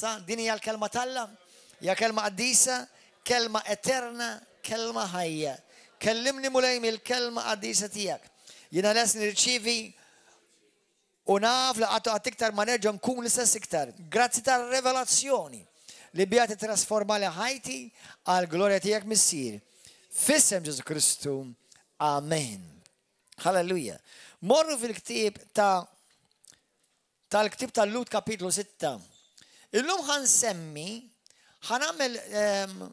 Issa, din hija l-kelma t'Alla, hija kelma qaddisa, kelma eterna, kelma ħajja. Kellimni Mulej mill-kelma qaddisa tiegħek. Jiena lest nirċievi u naf li qatt qatt iktar ma nerġa' nkun l-istess iktar. Grazzi tar-revelazzjoni li biha titrasformali ħajti għall-glorja tiegħek Missier. F'isem Ġesù Kristu. Amen. Halleluja. Morru fil-ktieb ta' tal-ktieb tal-Lhud kapitlu 6. Illum ħa nsemmi, ħa nagħmel ehm,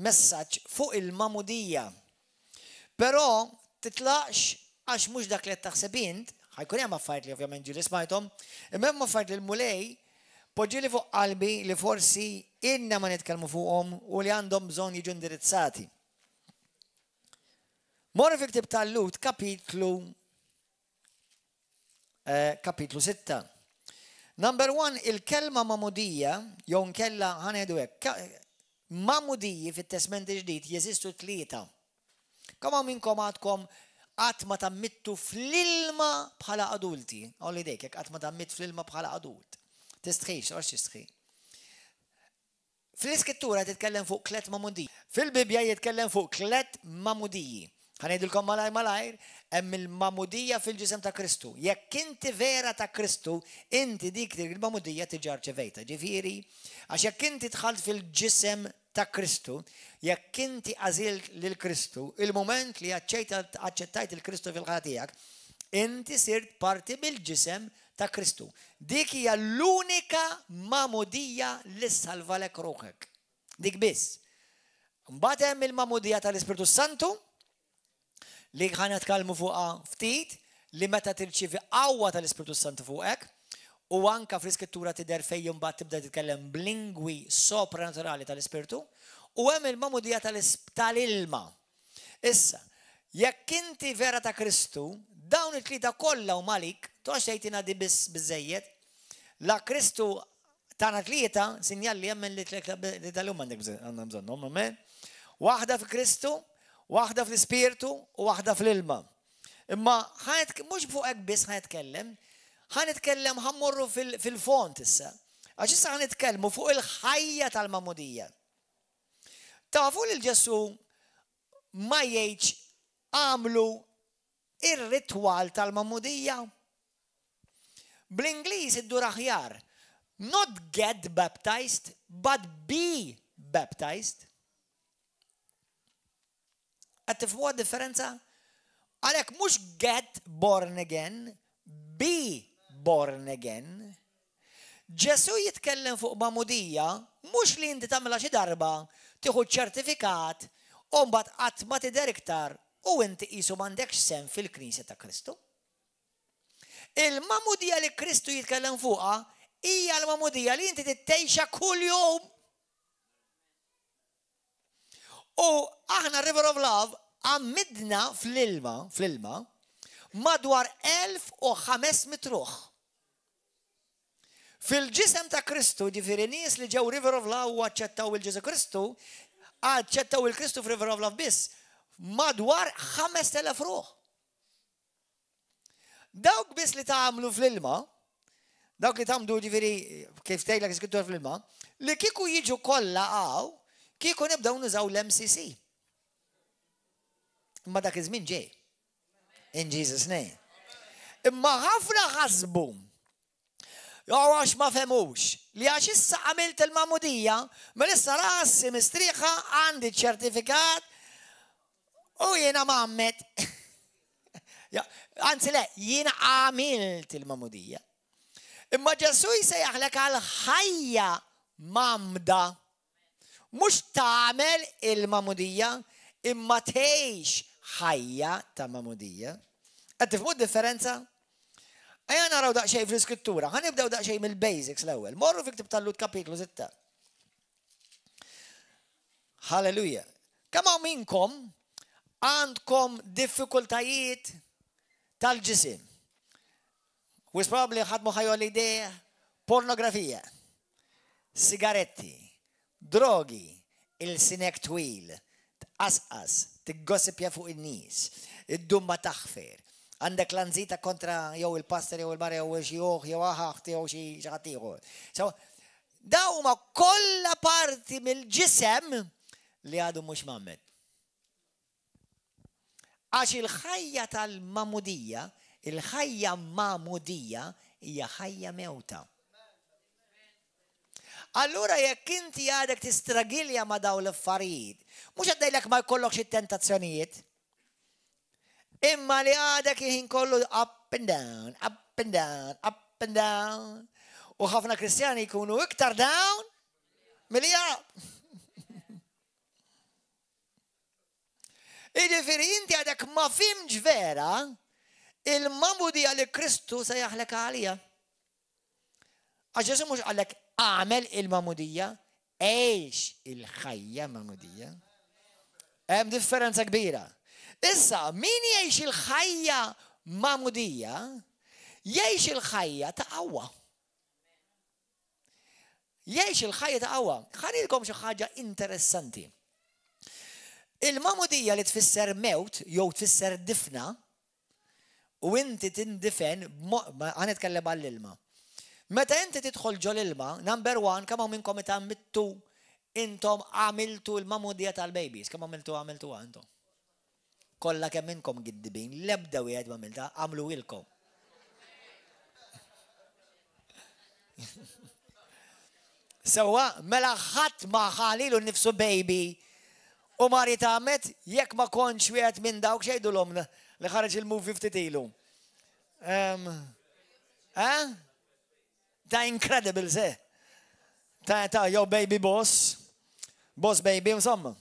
messaġġ fuq il-magħmudija. Però titlaqx għax mhux dak li qed taħseb int, ħa jkun hemm affarijiet li ovvjament ġieli smajthom, imma hemm affarijiet li l-Mulej poġġieli fuq qalbi li forsi ilna ma nitkellmu fuqhom u li għandhom bżonn jiġu indirizzati. Morru fil-ktieb tal-Lhud kapitlu eh, kapitlu 6. Number one, il-kelma magħmudija, jew nkella ħa ngħidu hekk, magħmudiji fit-Testment Ġdid jeżistu tlieta. Kemm hawn minnkom għadkom qatt ma tgħammidtu fl-ilma bħala adulti? Għolli idejk jekk qatt ma tgħammidt fl-ilma bħala adult. Tistħix, għax tistħi. Fl-Iskrittura titkellem fuq tlet magħmudiji. Fil-Bibbja jitkellem fuq tlet magħmudiji. Ħa ngħidilkom malajr malajr, hemm il-magħmudija fil-ġisem ta' Kristu. Jekk inti vera ta' Kristu, inti dik il-magħmudija diġà rċevejtha. Ġifieri, għax jekk inti dħalt fil-ġisem ta' Kristu, jekk inti għażilt lil Kristu, il-mument li aċċettajt il Kristu fil-ħajja tiegħek, inti sirt parti mill-ġisem ta' Kristu. Dik hija l-unika magħmudija li ssalvalek ruħek. Dik biss. Mbagħad hemm il-magħmudija tal-Ispirtu Santu li ħa nitkellmu fuqha ftit li meta tirċievi qawwa tal-Ispirtu Santu fuqek u anka fl-Iskrittura tidher fejn imbagħad tibda titkellem b'lingwi sopranaturali tal-Ispirtu u hemm il-magħmudija tal-ilma. Issa, jekk inti vera ta' Kristu, dawn it-tlieta kollha huma għalik, toqgħodx tgħid jiena di biss biżżejjed. La Kristu tana tlieta, sinjal li jemmen li tlieta li huma għandek għandna bżonnhom, amen. Waħda fi Kristu, waħda fl-Ispirtu u waħda fl-ilma. Imma mhux fuq hekk biss ħa nitkellem, ħa nitkellem ħa mmorru fil-fond issa. Għax issa ħa nitkellmu fuq il-ħajja tal-magħmudija. Tafu li Ġesù ma jgħidx għamlu ir-ritwal tal-magħmudija? Bl-Ingliż iddur aħjar. Not get baptized, but be baptized. Qed tifhmu differenza? Għalhekk mhux get born again, be born again. Ġesù jitkellem fuq magħmudija mhux li inti tagħmilha xi darba, tieħu ċ-ċertifikat u mbagħad qatt ma tidher iktar u inti qisu m'għandekx sehem fil-Knisja ta' Kristu. Il-magħmudija li Kristu jitkellem fuqha hija l-magħmudija li inti tgħixha kuljum. U aħna River of Love għammidna fl-ilma, fl-ilma, madwar 1500 ruħ. Fil-ġisem ta' Kristu, ġifieri nies li ġew River of Love u aċċettaw il-Ġesu Kristu, aċċettaw il-Kristu f'River of Love biss, madwar 5000 ruħ. Dawk biss li tgħammdu fl-ilma, dawk li tgħammdu ġifieri kif tgħidlek iskrittura fl-ilma, li kieku jiġu kollha hawn, kieku nibdew nużaw l-MCC. Imma dak iż-żmien ġej. In Jesus name. Imma ħafna ħasbu jew għax ma fehmux li għax issa għamilt il-magħmudija, mela issa rasi mistrieħa għandi ċertifikat u jiena mgħammed. Anzi le, jiena għamilt il-magħmudija. Imma Ġesù jsejjaħlek għal ħajja mgħammda. Mhux tagħmel il-magħmudija, imma tgħix ħajja ta' magħmudija. Qed tifhmu d-differenza? Ejja naraw daqsxejn fl-iskrittura. Ħa nibdew daqsxejn mill-basics l-ewwel. Morru fi ktib tal-Lhud kapitlu 6. Halleluja. Kemm hawn minnkom għandkom diffikultajiet tal-ġisim? Wisq probably ħadd mhu ħa jgħolli idejh pornografija, sigaretti, drogi, ilsinek twil, tqasqas, tiggossipja fuq in-nies, iddum ma taħfer, għandek lanzita kontra jew il-pastor jew il-mara jew xi oħ jew aħ jew xi ħadd ieħor. So, Dawn huma kollha parti mill-ġisem li għadu mhux mgħammed. Għax il-ħajja tal-magħmudija, il-ħajja magħmudija hija ħajja mewta. Allura jekk inti għadek tistragilja ma' dawn l-affarijiet, mhux qed ngħidlek ma jkollokx it-tentazzjonijiet, imma li għadek il-ħin kollu up and down, up and down, up and down. U ħafna Kristjani jkunu iktar down milli up. Jiġifieri inti għadek ma fimx vera il-magħmudija li Kristu se jaħlek għalija. Għax Ġesu mhux qalek għamel il-magħmudija, għix il-ħajja magħmudija. Hemm differenza kbira. Issa, min jgħix il-ħajja magħmudija, jgħix il-ħajja ta' qawwa. Jgħix il-ħajja ta' qawwa. Ħanilkom xi ħaġa interessanti. Il-magħmudija li tfisser mewt jew tfisser difna, u inti tindifen, ħa nitkellem għall-ilma. Meta inti tidħol ġol ilma, number one, kemm hawn minnkom itgħammidtu intom għamiltu l-magħmudija tal-babies, kemm għamiltu għamiltuha intom? Kollha kemm inkom giddibin, l-ebda wieħed ma għamilta, għamlu ilkom. Sewwa, mela ħadd ma ħalilu nnifsu baby u mar jitgħammed jekk ma kontx wieħed minn dawk x'jgħidulhom li ħareġ il-movie ftit ilu. Eh? Ta' Incredibles, eh? Ta' ta' jew Baby Boss, Boss Baby, insomma.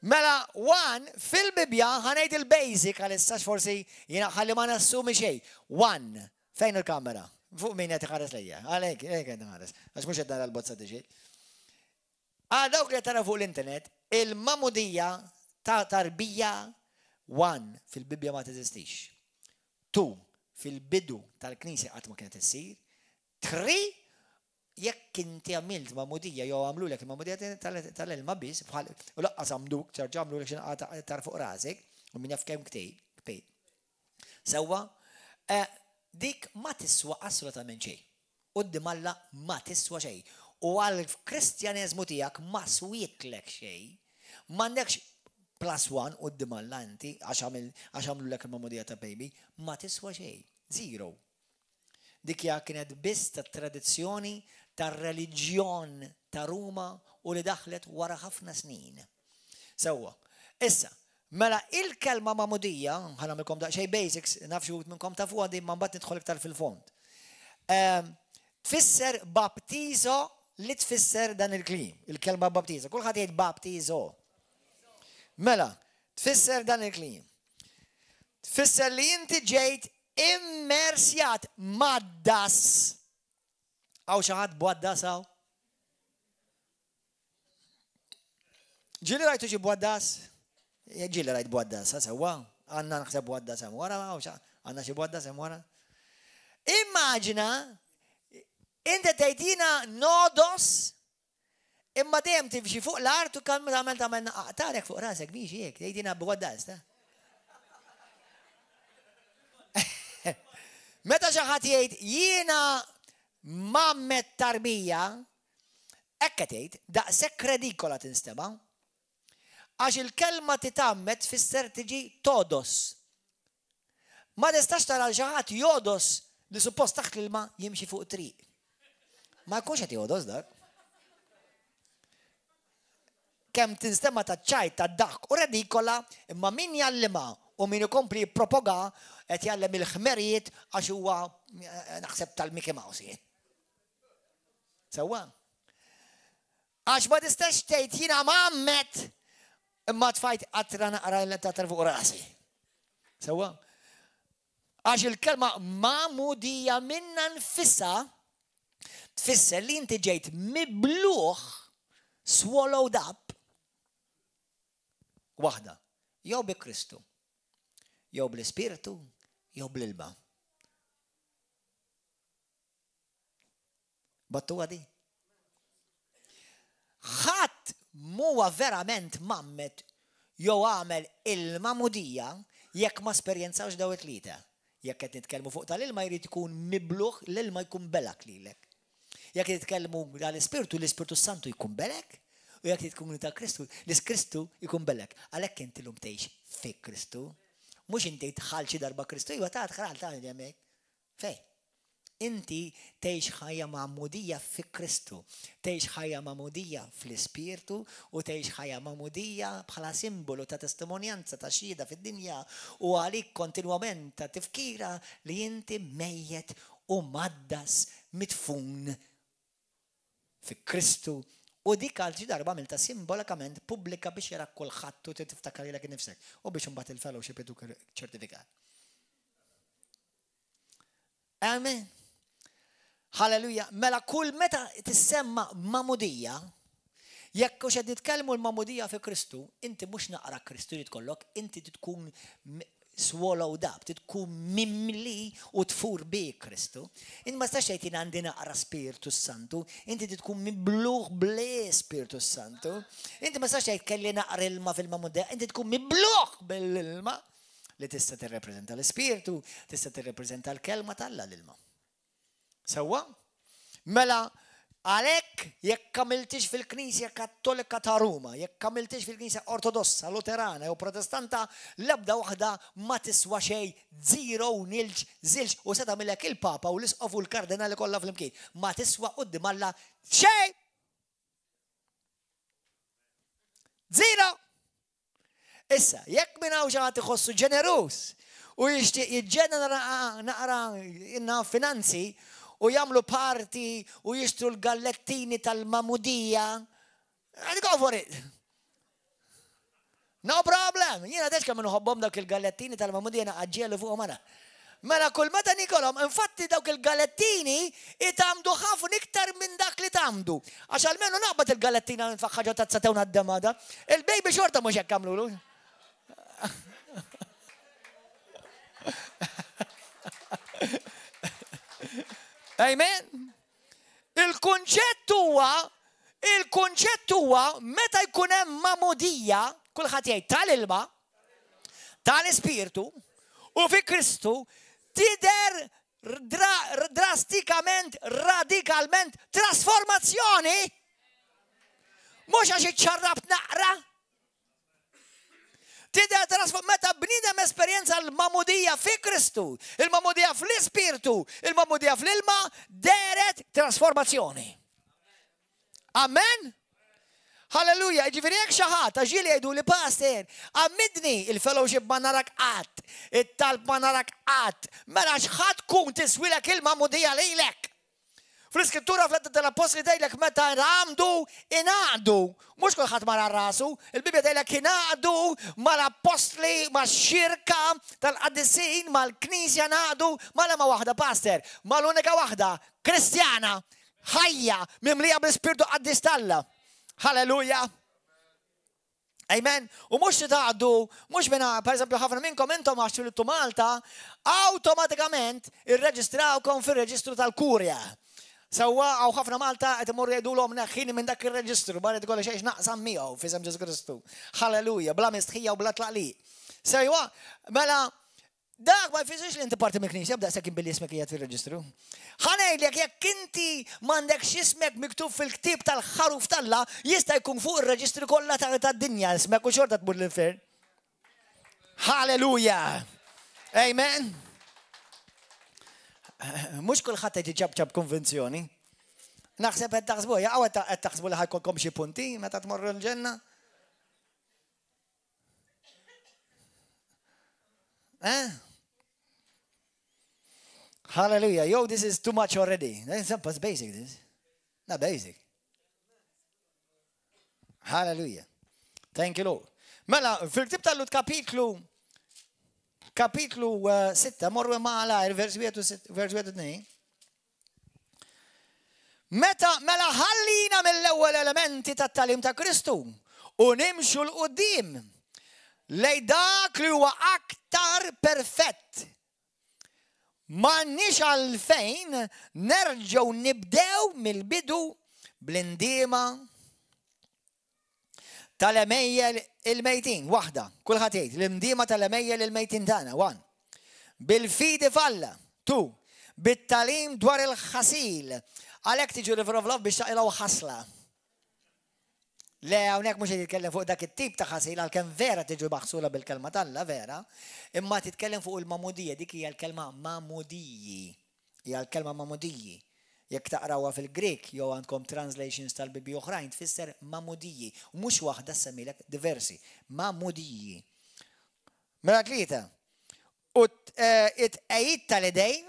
Mela, one, fil-Bibbja ħanejt il-basic għalissa forsi jiena ħalli ma nassumi xejn. One, fejn il-kamera? Fuq min qed iħares lejja. Għalhekk, hekk qed iħares. Għax mhux qed nara l-bozza tiġi. Għal dawk li tara fuq l-internet, il-mamudija ta' tarbija one fil-Bibbja ma teżistix. Two, fil-bidu tal-Knisja qatt ma kienet issir. Three, Jekk inti għamilt magħmudija jew għamlulek il-magħmudija tal-ilma biss, bħal u laqqas għamduk, ċarġa għamlulek xi naqgħa tar fuq rasek, u min jaf kemm ktejt. Sewwa, eh, dik ma tiswa assolutament xejn. Quddiem Alla ma tiswa xejn. U għall-Kristjaneżmu tiegħek ma swietlek xejn. M'għandekx plus one quddiem Alla inti għax għamlulek il-magħmudija ta' baby, ma tiswa xejn. Zero. Dik hija kienet biss tat-tradizzjoni tar-reliġjon ta' Ruma u li daħlet wara ħafna snin. Sewwa. Issa, mela il-kelma magħmudija, ħa nagħmilkom daqsxejn basics, naf xi wħud minnkom tafuha din ma mbagħad nidħol iktar fil-fond. Ehm, tfisser baptizo li tfisser dan il-kliem, il-kelma baptizo. Kulħadd jgħid baptizo. Mela, tfisser dan il-kliem. Tfisser li inti ġejt immersjat mad-das. Hawn xi ħadd b'għaddas hawn? Ġieli rajtu xi b'għaddas? Ġieli rajt b'għaddas, sewwa, għandna naħseb b'għaddas hemm wara, għandna xi b'għaddas hemm wara. Immaġina inti tgħid jiena nodos Imma dejjem timxi fuq l-art u kemm tagħmel tagħmel naqtarek fuq rasek biex hekk, tgħid jiena b'għaddas ta'. Meta xi ħadd jgħid jiena mammet tarbija, hekk qed tgħid, daqshekk redikola tinstema'. Għax il-kelma titgħammed tfisser tiġi todos. Ma tistax tara l xi ħadd jogħdos li suppost taħt l-ilma jimxi fuq triq. Ma jkunx qed jogħdos dak. Kemm tinstema ta' ċajt ta' daħk u redikola, imma min jgħallimha u min ikompli jippropoga qed jgħallem il-ħmerijiet għax huwa eh, naħseb tal-Mickey Mouse jien. Sewwa. Għax ma tistax tgħid jiena mgħammed imma tfajt qatra naqra l tatra fuq rasi. Sewwa? Għax il-kelma magħmudija minna nfisha tfisser li inti ġejt mibluħ swallowed up waħda, jew bi Kristu, jew bl-Ispirtu, jew bl-ilma. Battuha di? Ħadd m'huwa verament mgħammed jew għamel il-magħmudija jekk ma esperjenzawx daw it-tlieta. Jekk qed nitkellmu fuq tal-ilma jrid ikun mibluh, l-ilma jkun belak lilek. Jekk qed nitkellmu tal-Ispirtu, l-Ispirtu Santu jkun belek, u jekk tkun ta' Kristu, l-Kristu jkun belek. Għalhekk inti llum tgħix fi Kristu. Mhux inti dħalt xi darba Kristu, iva ta' dħalt ta' hemmhekk. Fej? Inti tgħix ħajja magħmudija fi Kristu, tgħix ħajja magħmudija fl-Ispirtu u tgħix ħajja magħmudija bħala simbolu ta' testimonjanza ta' xhieda fid-dinja u għalik kontinwament ta' tifkira li inti mejjet u mgħaddas midfun fi Kristu u dik għal xi darba għamiltha simbolikament pubblika biex jarak kulħadd u tiftakar lilek innifsek u biex imbagħad il-fellowship iduk ċertifikat. Amen. Halleluja. Mela kull meta tissemma magħmudija, jekk hux qed nitkellmu l-magħmudija fi Kristu, inti mhux naqra Kristu li tkollok, inti tkun swallowed up, tkun mimli u tfur bi Kristu. Inti ma tistax tgħid jien għandi naqra Spirtu Santu, inti tkun mibluħ bl-Spirtu Santu. Inti ma tistax tgħid kelli naqra ilma fil-magħmudija, inti tkun mibluħ bil-ilma li tista' tirrepreżenta l-Ispirtu, tista' tirrepreżenta l-kelma t'Alla l-ilma. Sewwa? Mela, għalhekk jekk għamiltix fil-Knisja Kattolika ta' Ruma, jekk għamiltix fil-Knisja Ortodossa, Luterana jew Protestanta, l-ebda waħda ma tiswa xejn, zero, nilġ, żilġ, u se tagħmilek il-Papa u l-Isqof u l-Kardinali kollha flimkien. Ma tiswa quddiem Alla xejn! Zero! Issa, jekk minn hawn xi ħadd iħossu ġeneruż u jixtieq jiġġenera naqra inna finanzi u jagħmlu parti u jixtru l-gallettini tal-magħmudija, go for it. No problem. Jiena tex kemm inħobbhom dawk il-gallettini tal-magħmudija naqaġġielu fuqhom ara. Mela kull meta nikolhom, infatti dawk il-galettini itgħammdu ħafna iktar minn dak li tgħammdu. Għax almenu naqbad il-galettina nfaħħa ġo tazza tew ngħaddem Il-baby xorta mhux hekk għamlulu. Amen. Il-kunċett huwa il-kunċett huwa meta jkun hemm magħmudija, kulħadd jgħid tal-ilma, tal-Ispirtu u fi Kristu tidher drastikament, radikalment trasformazzjoni. Mhux għax iċċarrabt naqra. Tidher trasform meta bniedem esperjenza l-magħmudija fi Kristu, il-magħmudija fl-Ispirtu, il-magħmudija fl-ilma, dehret trasformazzjoni. Amen? Halleluja, ġifieri jekk xi ħadd għax ġieli jgħidu li pastor, għammidni il-fellowship ma narak qatt, it-talb ma narak qatt, mela x'ħadd tkun tiswilek il-magħmudija lilek. Fl-iskrittura fl tal-Appostli tgħidlek meta għamdu ingħaqdu. Mhux kulħadd mara rasu, il-Bibbja tgħidlek ingħaqdu mal-appostli, max-xirka tal-qaddisin, mal-knisja ngħaqdu mal-ema waħda pastor, mal-unika waħda, Kristjana, ħajja mimlija bl-Ispirtu Qaddis t'Alla. Halleluja. Amen. U mhux titgħaddu, mhux minna, per eżempju, ħafna minnkom intom għax twilidtu Malta, awtomatikament irreġistrawkom fir-reġistru tal-kurja. Sewwa hawn ħafna Malta qed imorru jgħidulhom neħħini minn dak ir-reġistru, barra tkollha xejn naqsam miegħu f'isem Ġesu Kristu. Halleluja, bla mistħija u bla tlaqliq. Sewwa, mela Dak ma jfissirx li inti parti mill-Knisja b'daqshekk billi ismek qiegħed fir-reġistru. Ħa ngħidlek jekk inti m'għandekx ismek miktub fil-ktieb tal-ħaruf t'Alla, jista' jkun fuq ir-reġistri kollha tad-dinja ismek u xorta tmur l-infern. Halleluja! Amen. Mhux kulħadd qed iċabċab konvinzjoni. Naħseb qed taħsbu, jaqgħu qed taħsbu li ħajkolkom xi punti meta tmorru l-ġenna. Eh? Hallelujah. Yo, this is too much already. That's basic, this. Not basic. Hallelujah. Thank you, Lord. Mela, fil-ktib tal-Lut kapitlu kapitlu 6, eh, morru ma' vers 1 2. Meta mela ħallina mill-ewwel elementi tat-tagħlim ta' Kristu u nimxu 'l quddiem lejn dak li huwa aktar perfett. M'għandniex għalfejn nerġgħu nibdew mill-bidu bl-indiema tal-għemejjel il-mejtin. Waħda, kulħadd jgħid, l-indiema tal-għemejjel il-mejtin tagħna. One. Bil-fidi f'Alla. Tu. Bit-tagħlim dwar il-ħasil. Għalhekk tiġu River of Love biex taqilgħu ħasla. Le, hawnhekk mhux qed jitkellem fuq dak it-tip ta' ħasil għalkemm vera tiġu maħsula bil-kelma t'Alla, vera, imma titkellem fuq il-magħmudija, dik hija l-kelma magħmudiji. Hija l-kelma magħmudiji. Jekk taqrawha fil-Grieg jew għandkom translations tal-Bibbji oħrajn tfisser magħmudiji. U mhux waħda ssemmilek diversi. Magħmudiji. Mela tlieta. U it-tqegħid tal-idejn,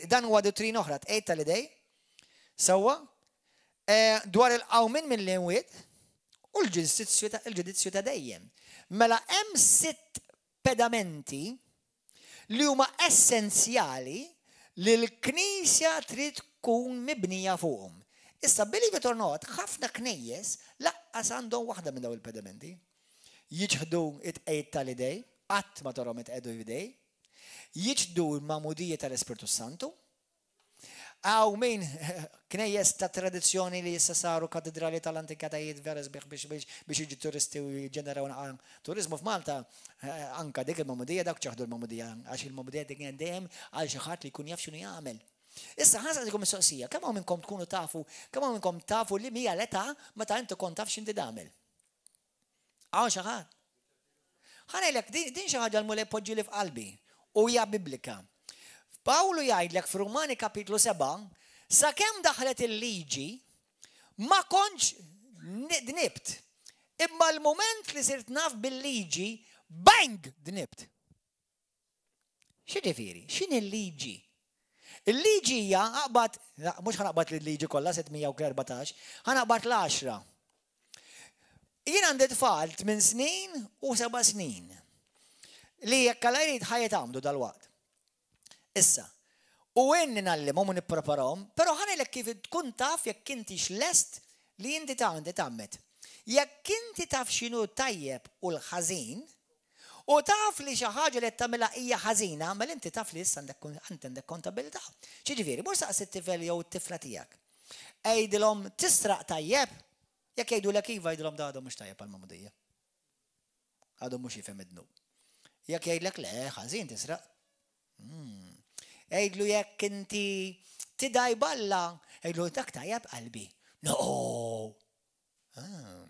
dan huwa dottrina oħra, tqegħid tal-idej, sewwa, eh, dwar il-qawmin mill-imwiet u l-ġudizzju ta' dejjem. Mela hemm sitt pedamenti li huma essenzjali li l-Knisja trid tkun mibnija fuqhom. Issa, believe it or not, ħafna knejjes laqqas għandhom waħda minn dawn il-pedamenti. Jiċħdu it-tqegħid tal-idej, qatt ma tarhom itqiegħdu idej. Jiċħdu l-magħmudija tal-Ispirtu Santu. Hawn min knejjes ta' tradizzjoni li issa saru katedrali tal-antikatajiet vera sbieħ biex biex biex jiġu turisti u jiġġeneraw naqra turiżmu f'Malta, eh, anka dik il-magħmudija dawk ċaħdu l-magħmudija għax il-magħmudija dik dejjem għal xi ħadd li jkun jaf x'inhu jagħmel. Issa ħa nsaqsikom mistoqsija, kemm hawn minnkom tkunu tafu, kemm hawn minnkom tafu li mija l-età meta inti kont taf x'inti tagħmel? Hawn xi ħadd? Ħa ngħidlek, din xi ħaġa l-Mulej poġġieli f'qalbi u hija biblika. Pawlu jgħidlek f'Rumani kapitlu 7, sakemm daħlet il-liġi, ma kontx dnibt. Imma l-mument li sirt naf bil-liġi, bang, dnibt. X'jiġifieri? X'inhi l-liġi? Il-liġi hija aqbad, mhux ħanaqbad l-liġi kollha 614, ħanaqbad l-għaxra. Jien għandi tfal 8 snin u 7 snin li jekk Alla jrid ħa jitgħammdu dalwaqt. Issa, u inni ngħallimhom u nippreparahom, però ħa ngħidlek kif tkun taf jekk intix lest li inti tgħammed. Jekk inti taf x'inhu tajjeb u l-ħażin, U taf li xi ħaġa li qed tagħmilha hija ħażina, mela inti taf li issa għandek inti għandek kontabilità. X'jiġifieri, mur saqsi t-tifel jew it-tifla tiegħek. Għidilhom tisraq tajjeb? Jekk jgħidulek iva, għidilhom da għadu mhux tajjeb għall-magħmudija. Għadu mhux jifhem id-dnub. Jekk jgħidlek le, ħażin tisraq. Hmm. Għidlu jekk inti tidaj balla, għidlu dak tajjeb qalbi. No! Ah.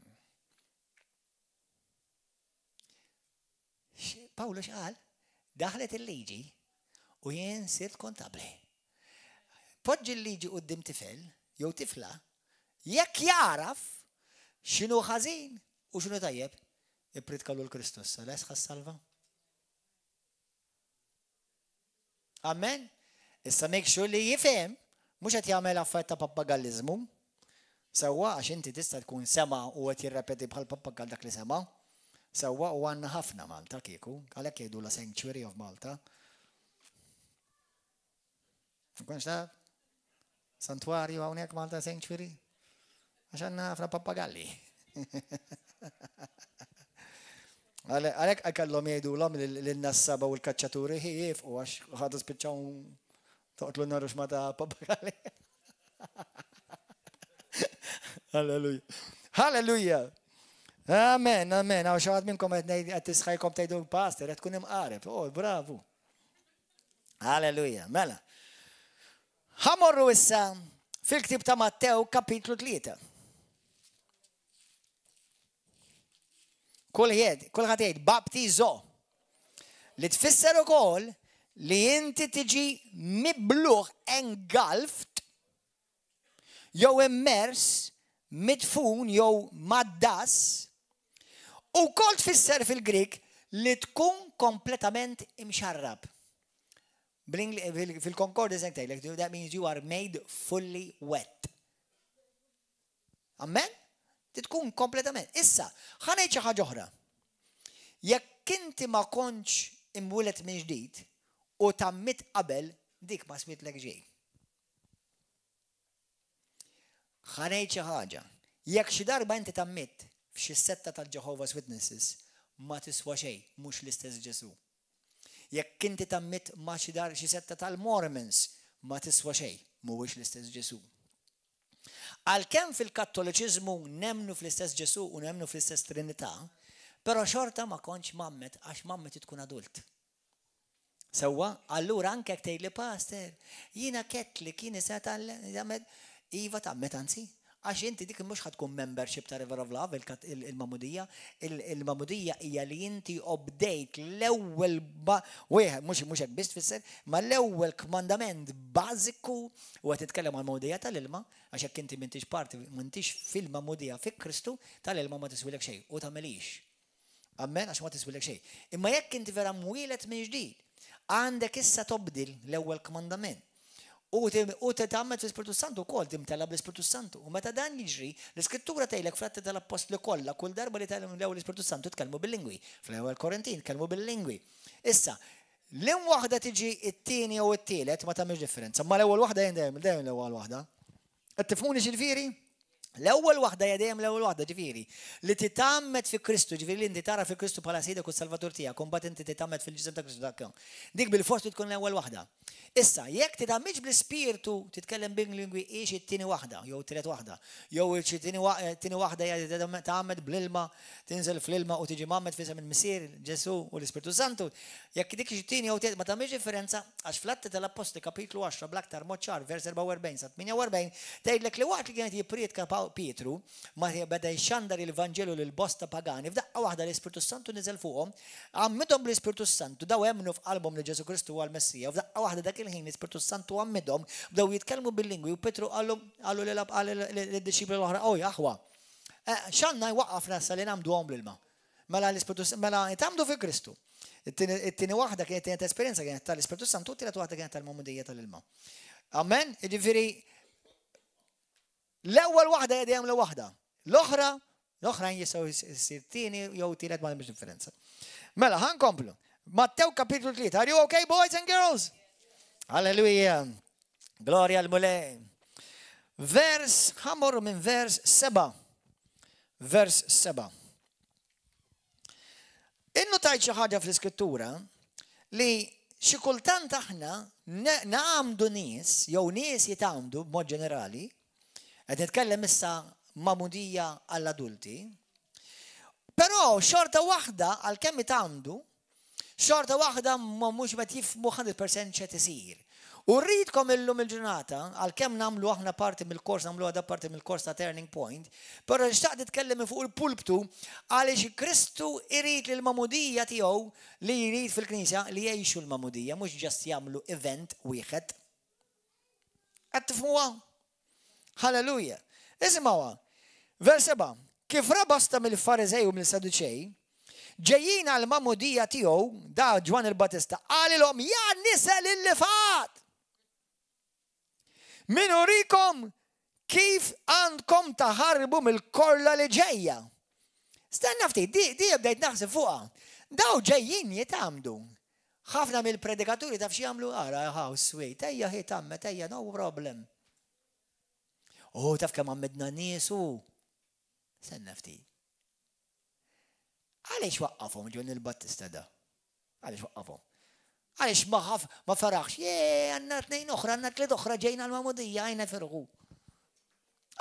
Pawlu x'qal? Daħlet il-liġi u jien sirt kontabli. Poġġi l-liġi quddiem tifel jew tifla, jekk jaraf x'inhu ħażin u x'inhu tajjeb, ippritkalu l-Kristu issa, les salva. Amen. Issa make sure li jifhem, mhux qed jagħmel affarijiet ta' pappagalliżmu. Sewwa għax inti tista' tkun sema' u qed jirrepeti bħal pappagall dak li sema'. Sewwa u għandna ħafna Malta kieku, għalhekk jgħidulha Sanctuary of Malta. Ma kontx taf? Santwarju hawnhekk Malta Sanctuary? Għax għandna ħafna pappagalli. Għalhekk kellhom jgħidulhom lin-nassaba u l-kaċċaturi jifqu għax ħadu spiċċaw toqtlu narux ma ta' pappagalli. Halleluja. Halleluja. Amen, amen. Għaw xaħat minnkom għed tisħajkom tgħidu pastor, qed tkun imqareb. Oh, bravu. Halleluja. Mela. Ħamorru issa fil-ktib ta' Mattew kapitlu 3. Kulħadd kulħadd jgħid baptizo. Li tfisser ukoll li inti tiġi mibluħ engulfed jew immers, midfun jew maddas, u wkoll tfisser fil-Grieg li tkun kompletament imxarrab. Fil-concordance hekk tgħidlek, that means you are made fully wet. Amen? Tkun kompletament. Issa, ħa ngħid xi ħaġa oħra. Jekk inti ma kontx imwieled minn ġdid u tgħammidt qabel, dik ma switlek xejn. Ħa ngħid xi ħaġa. Jekk xi darba inti tgħammidt f'xi setta tal-Jehovah's Witnesses, ma tiswa xejn, mhux l-istess Ġesù. Jekk inti tgħammidt ma' xi dar xi setta tal-Mormons, ma tiswa xejn, mhuwiex l-istess Ġesù. Għalkemm fil-Kattoliċiżmu nemmnu fl-istess Ġesù u nemmnu fl-istess Trinità, però xorta ma kontx mgħammed għax mgħammed tkun adult. Sewwa, allura anke jekk tgħidli Pastor, jiena Catholic, jien nista' nitgħammed, iva tgħammed anzi, għax inti dik mhux ħa tkun membership ta' River of Love, il-magħmudija, il-magħmudija hija li inti obdejt l-ewwel wieħed, mhux mhux hekk biss tfisser, ma l-ewwel kmandament bażiku u qed nitkellem għal magħmudija tal-ilma, għax jekk inti m'intix parti, m'intix fil-magħmudija fi Kristu, tal-ilma ma tiswilek xejn u tagħmilix. Amen, għax ma tiswilek xejn. Imma jekk inti vera mwieled minn ġdid, għandek issa tobdil l-ewwel kmandament. U titgħammed fl-Ispirtu Santu wkoll, timtela bl-Ispirtu Santu. U meta dan jiġri, l-Iskrittura tgħidlek fl-Atti tal-Appostli kollha, kull darba li tgħallem l-Ispirtu Santu tkellmu bil-lingwi. Fl-ewwel Korintin tkellmu bil-lingwi. Issa, l waħda tiġi it-tieni jew it-tielet ma tagħmilx differenza, ma l-ewwel waħda dejjem dejjem l-ewwel waħda. Qed tifhmuni x'jiġifieri? L-ewwel waħda hija dejjem l-ewwel waħda, ġifieri, li titgħammed fi Kristu, ġifieri li inti tara fi Kristu bħala Sidek u Salvatur tiegħek, u mbagħad inti titgħammed fil-ġisem ta' Kristu dak. Dik bilfors li tkun l-ewwel waħda. Issa, jekk titgħammidx bl-Ispirtu, titkellem bil-lingwi hi xi t-tieni waħda, jew t-tielet waħda, jew xi tieni waħda hija titgħammed bl-ilma, tinżel fl-ilma u tiġi mgħammed f'isem il-Missier, Ġesù u l-Ispirtu Santu. Jekk dik xi tieni jew tielet ma tagħmilx differenza, għax fl-Atti tal-Appostli kapitlu 10 bl-aktar mod ċar vers 44 sa 48 tgħidlek li waqt li kien qed jipprietka Pietru, ma beda jxandar il-Vanġelu lil bosta pagani, f'daqqa waħda l-Ispirtu Santu niżel fuqhom, għammidhom bl-Ispirtu Santu, daw emmnu f'qalbhom li Ġesù Kristu huwa l-Messija, u f'daqqa waħda dak il-ħin l-Ispirtu Santu għammidhom, bdew jitkellmu bil-lingwi u Pietru qallu qalu lid-dixxipli l-oħra, Oj, aħwa, eh, x'għandna jwaqqafna issa li nagħmduhom bl-ilma? Mela l-Ispirtu mela tgħammdu fi Kristu. It-tieni waħda kienet kienet esperjenza kienet tal-Ispirtu Santu, t-tielet waħda kienet tal-magħmudija tal-ilma. Amen? Jiġifieri l-ewwel waħda hija dejjem l waħda. L-oħra, l-oħrajn jistgħu jsir tieni jew tielet ma hemmx differenza. Mela, ħa nkomplu. Mattew kapitlu 3. Are you okay, boys and girls? Hallelujah. Gloria l-Mulej. Vers, ħamorru minn vers 7. Vers 7. Innutajt xi ħaġa fl-Iskrittura li xi kultant aħna nagħmdu nies jew nies jitgħammdu b'mod ġenerali, qed nitkellem issa magħmudija għall-adulti, però xorta waħda għalkemm jitgħammdu, Xorta waħda ma mhux qed jifhmu 100% x'qed isir. U rridkom illum il-ġurnata, għalkemm nagħmlu aħna parti mill-kors, nagħmlu għada parti mill-kors ta' Turning Point, però xtaqt nitkellem minn fuq il-pulptu għaliex Kristu irid li l-magħmudija tiegħu li jrid fil-Knisja li jgħixu l-magħmudija, mhux just jagħmlu event wieħed. Qed tifhmuha? Halleluja. Isimgħuha. Vers 7. Kif ra bosta mill-Fariżej u mill-Saduċej, ġejjin għall-magħmudija tiegħu, da Ġwanni l-Battista, qalilhom, ja nisel il-lifgħat! Min urikom kif għandkom taħarbu mill-korla li ġejja? Stenna ftit, di, di bdejt naħseb fuqha. Daw ġejjin jitgħammdu. Ħafna mill-predikaturi taf x'jagħmlu? Ara how sweet, ejja hi tgħammed, ejja no problem. Oh, taf kemm għammidna nies u. Stenna ftit. Għaliex waqqafhom Ġwanni l-Battista da? Għaliex waqqafhom? Għaliex ma ħaf ma faraħx, jee, għandna tnejn oħra, għandna tliet oħra ġejna l-magħmudija, għajna firħu.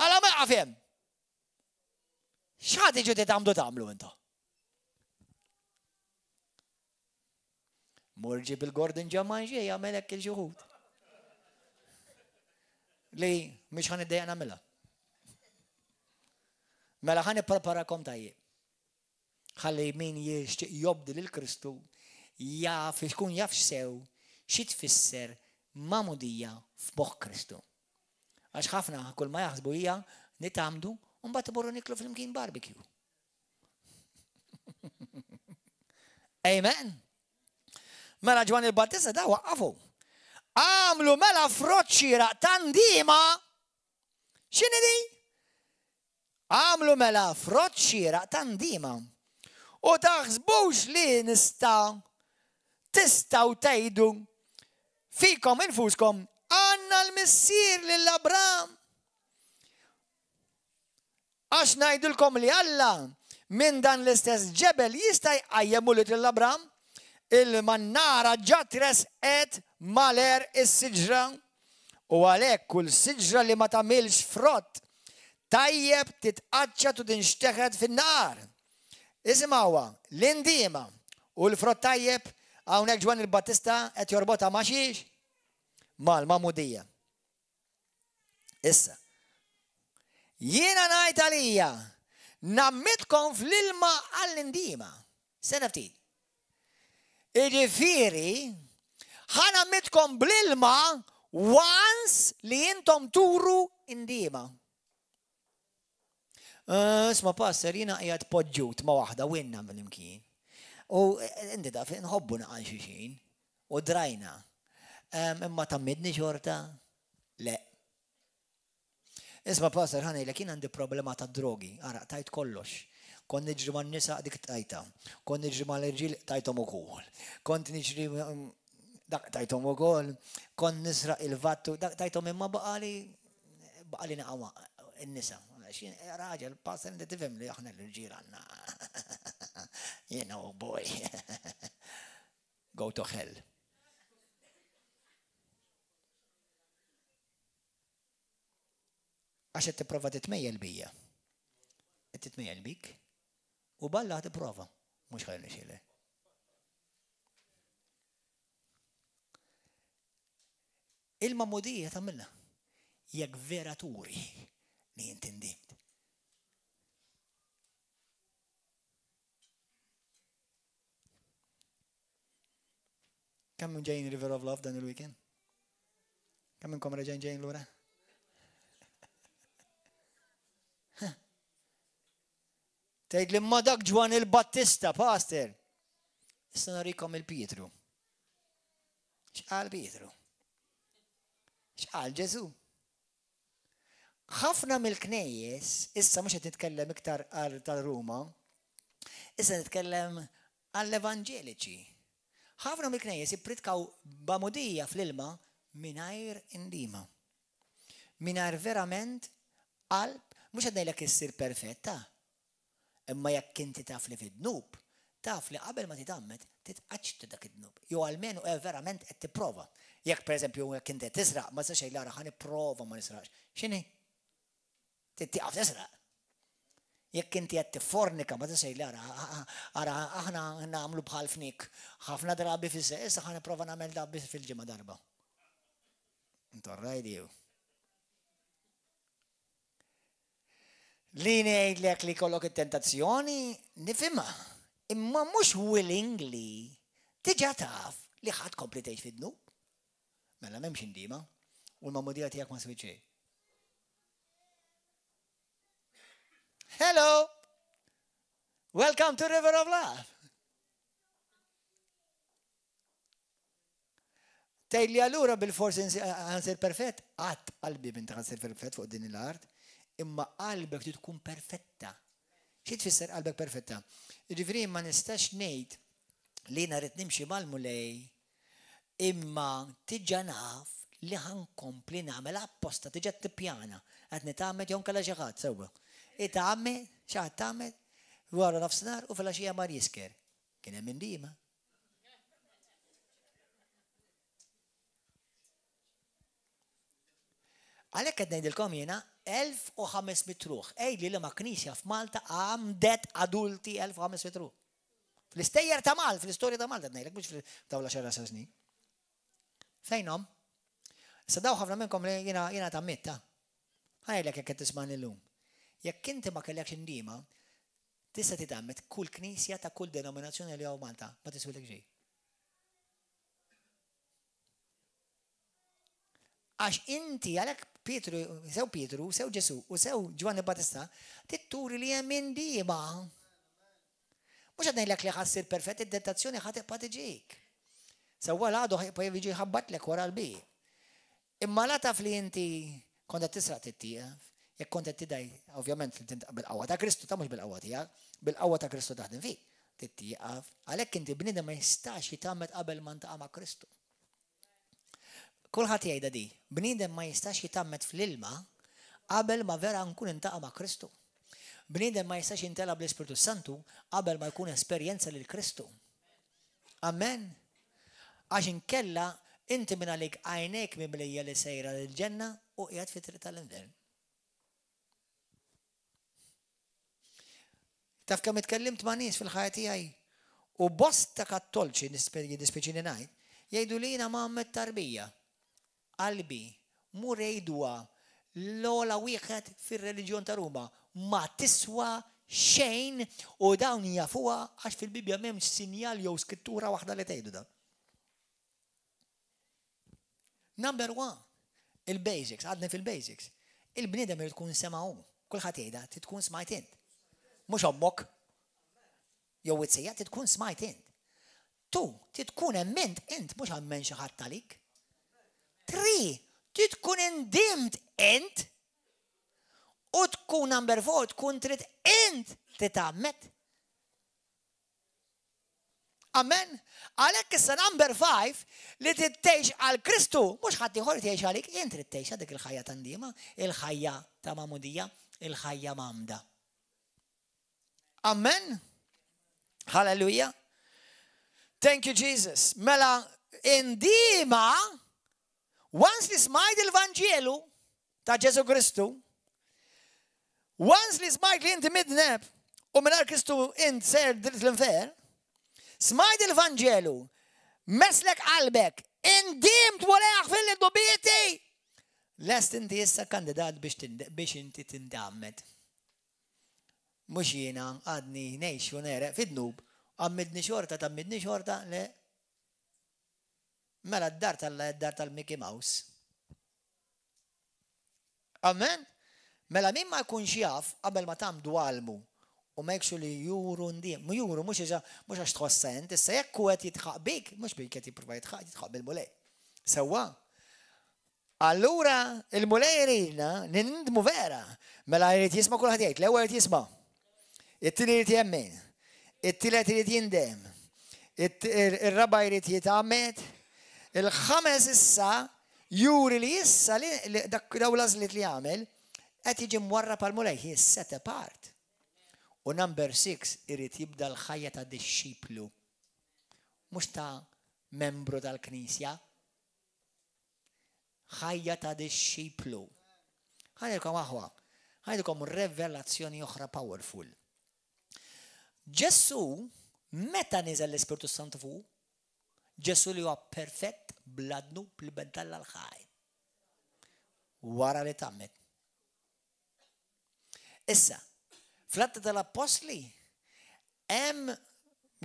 Għala ma jaqaf hemm. X'ħa tiġu titgħammdu tagħmlu intom? Mur ġib il-Gordon Ġamanġi jagħmel hekk il xi Li mhix ħan iddejja nagħmilha. Mela ħan ippreparakom tajjeb. Ħalli min jixtieq jobdi lil Kristu jaf ikun jaf sew xi tfisser magħmudija f'moħħ Kristu. Għax ħafna kull ma jaħsbu hija nitgħammdu u mbagħad imorru niklu flimkien barbecue. Amen. Mela Ġwanni l-Battista da waqqafu. Għamlu mela frott xieraq ta' ndiema. X'inhi di? Għamlu mela frott xieraq ta' ndiema. U taħsbux li nista' tistgħu tgħidu fikom infuskom għandna l-missier lil Abram. Għax ngħidilkom li Alla minn dan l-istess ġebel jista' jqajjem ulied lil Abram. Il-mannara ġa tresqet mal-għerq is-siġra, u għalhekk kull siġra li ma tagħmilx frott tajjeb titqaċċat u tinxteħet fin-nar. Isimgħuha, l-indiema u l-frott tajjeb Hawnhekk Ġwanni l-Battista qed jorbotha ma' xiex? Mal-magħmudija. Issa, jiena ngħid għalija, ngħammidkom fl-ilma għall-indiema. Sena ftit. Iġifieri, ħa ngħammidkom bl-ilma once li intom turu indiema. Eh, isma' pastor, jiena qiegħed poġġut ma' waħda u inna mill-imkien. U eh, inti taf, nħobbu naqal xulxin u drajna. Imma tammidni xorta? Le. Isma' pastor, ħa ngħidlek jien għandi problema ta' drogi, ara tajt kollox. Kont niġri man-nisa dik tajta. Kont niġri mal-irġiel tajthom ukoll. Kont niġri mm, dak tajthom ukoll. Kont nisraq il-vattu dak tajthom imma baqali baqali naqgħu n-nisa. Raġel, pastor, inti tifhem li aħna l-irġiel għandna. You know, boy. Go to hell. Għax qed tipprova titmejjel bija. Qed titmejjel bik. U balla tipprova, mhux ħajr nixile. Il-magħmudija tagħmilha jekk vera turi li inti ndimt. Kemm ġejjin River of Love dan il-weekend? Kemm minnkom reġgħin ġejjin lura? Tgħid li ma dak Ġwan il-Battista, pastor. Issa narikom il-Pietru. X'qal Pietru? X'qal Ġesu? Ħafna mill-knejjes, issa mhux qed nitkellem iktar għal tal-Ruma, issa nitkellem għall-evanġeliċi. Ħafna mill-knejjes ippritkaw b'għamudija fl-ilma mingħajr indiema. Mingħajr verament qalb, mhux qed ngħidlek issir perfetta, imma jekk inti taf li fid-dnub, taf li qabel ma titgħammed titqaċċta dak id-dnub. Jew almenu eh, verament qed tipprova. Jekk pereżempju jekk inti qed tisraq, ma tistax tgħid ara ħa nipprova ma nisraqx. X'inhi? Trid tieqaf tisraq. Jekk inti qed tiffornika ma tistax tgħid ara ara aħna nagħmlu bħal fnik ħafna drabi fis issa ħa nipprova nagħmel da biss fil-ġimgħa darba. Intorrajdi jew. Li ngħidlek li kollok it-tentazzjoni nifhimha, imma mhux willingly diġà taf li ħadd kompli tgħix fid-dnub. Mela m'hemmx indiema u l-magħmudija tiegħek ma swit xejn. Hello! Welcome to River of Love. Tgħid li allura bil-forsi ħansir perfett, qatt qalbi minn ħansir perfett fuq din l-art, imma qalbek trid tkun perfetta. Xi tfisser qalbek perfetta? Jiġifieri ma nistax ngħid li jiena rrid nimxi mal-Mulej Imma diġà naf li ħa nkompli nagħmel apposta, diġà tippjana. Qed nitgħammed jew inkella xi ħadd, sewwa. Itgħammed, xi ħadd tgħammed, wara nofsinhar u filgħaxija mar jisker. Kien hemm indiema. Għalhekk qed ngħidilkom jiena 1500 ruħ. Għidli liema knisja f'Malta għamdet adulti 1500 ruħ. Fl-istejjer ta' Malta, fl-istorja ta' Malta ngħidlek mhux f'dawn l-għaxar għaxar snin. Fejnhom? Issa daw ħafna minnkom li jiena jiena ta' mitta. Ħajlek jekk qed tismani llum. Jekk inti ma kellekx indiema, tista' titgħammed kull knisja ta' kull denominazzjoni li hawn Malta, ma tiswilek xejn. Għax inti għalhekk Pietru, sew Pietru, sew Ġesù u sew Ġwanni Battista, titturi li hemm indiema. Mhux qed ngħidlek li ħa ssir perfett, id-tentazzjoni ħa tibqa' tiġik. Sewwa l-għadu ħa jibqa' jiġi jħabbatlek wara l-bieb. Imma la taf li inti kont qed tisraq tittieqaf, jekk kont qed tidgħi, ovvjament bil-qawwa ta' Kristu, ta' mhux bil-qawwa tiegħek, bil-qawwa ta' Kristu taħdem fik, tittieqaf. Għalhekk inti bniedem ma jistax jitgħammed qabel ma ntaqa' ma' Kristu. Kulħadd jgħidha di, bniedem ma jistax jitgħammed fl-ilma qabel ma vera nkun intaqa' ma' Kristu. Bniedem ma jistax jintela bl-Ispirtu Santu qabel ma jkun esperjenza lil Kristu. Amen. Għax inkella inti minn għalik għajnejk mimlija li sejra lil-ġenna u qiegħed fit-triq tal-infern. Taf kemm itkellimt ma' nies fil-ħajja tiegħi? U bosta kattolċi jiddispjaċini ngħid, jgħidu li jiena mgħammed tarbija. Qalbi, mur għiduha l-ogħla wieħed fir-reliġjon ta' Ruma, ma tiswa xejn u dawn jafuha għax fil-Bibbja m'hemmx sinjal jew skrittura waħda li tgħidu dan. Number one, il-basics, għadni fil-basics. Il-bniedem irid tkun sema' hu. Kulħadd jgħidha, trid tkun smajt int. Mhux ommok. Jew it-sejja, trid tkun smajt int. Tu, trid tkun emmint int, mhux ammen xi ħadd għalik. Tri, trid tkun indimt int. U tkun number four, tkun trid int titgħammed. Amen. Għalhekk issa number 5 li trid tgħix għal Kristu, mhux ħadd ieħor tgħix għalik, int trid tgħix dik il-ħajja ta' ndiema, il-ħajja ta' magħmudija, il-ħajja mgħammda. Amen. Hallelujah. Thank you Jesus. Mela indiema once li smajt il-Vanġelu ta' Ġesu Kristu, once li smajt li inti midneb u mingħajr Kristu int ser dritt l-infer, smajt il-Vanġelu, meslek qalbek, indimt Mulej aħfirli dnubieti. Lest inti issa kandidat biex inti tindammed. Mhux jiena għadni ngħix u negħreq fid-dnub, għammidni xorta tgħammidni xorta, le. Mela d-dar t'Alla hija d-dar tal-Mickey Mouse. Amen? Mela min ma jkunx jaf qabel ma tgħammdu għallmu u make sure li juru ndiem. Mu juru mhux iġa mhux għax tħossha int, issa jekk hu qed jidħaq bik, mhux bik qed jipprova jidħaq, jidħaq bil-Mulej. Sewwa? Allura il-Mulej iridna nindmu vera. Mela jrid jisma' kulħadd jgħid, l-ewwel jrid jisma'. It-tieni jrid jemmen. It-tielet irid jindem. Ir-raba' jrid jitgħammed. Il-ħames issa juri li issa li dak daw l-għażliet li għamel qed jiġi mwarrab għall-Mulej, he is set apart. U number 6 irid jibda l-ħajja ta' dixxiplu. Mhux ta' membru tal-Knisja. Ħajja ta' dixxiplu. Ħa ngħidilkom aħwa, ħa ngħidilkom revelazzjoni oħra powerful. Ġesù meta niżel l-Ispirtu Santu fuq, Ġesù li huwa perfett bla dnub li ben t'Alla l-ħaj. Wara li tgħammed. Issa, fl-Atti tal-Appostli hemm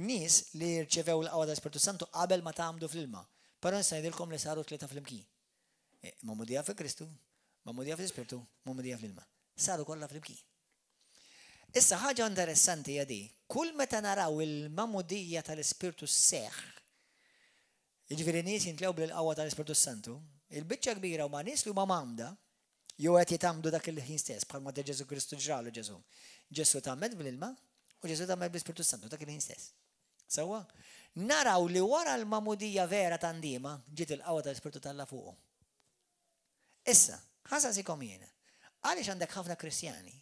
nies li rċevew l-qawwa tal-Ispirtu Santu qabel ma tgħammdu fl-ilma. Però nista' ngħidilkom li saru tlieta flimkien. E, magħmudija fi Kristu, magħmudija fl-Ispirtu, magħmudija fl-ilma. Saru kollha flimkien. Issa ħaġa interessanti hija di, kull meta naraw il-magħmudija tal-Ispirtu sseħħ, jiġifieri nies jintlew bil-qawwa tal-Ispirtu Santu, il-biċċa kbira huma nies li huma mgħammda, Jew qed jitgħammdu dak il-ħin stess, bħalma ta' Ġesù Kristu ġralu Ġesù. Ġesù tgħammed bl-ilma u Ġesù tgħammed bl-Ispirtu Santu dak il-ħin stess. Sewwa? Naraw li wara l-magħmudija vera ta' ndiema ġiet il-qawwa tal-Ispirtu t'Alla fuqu. Issa, ħa nsaqsikom jiena, għaliex għandek ħafna Kristjani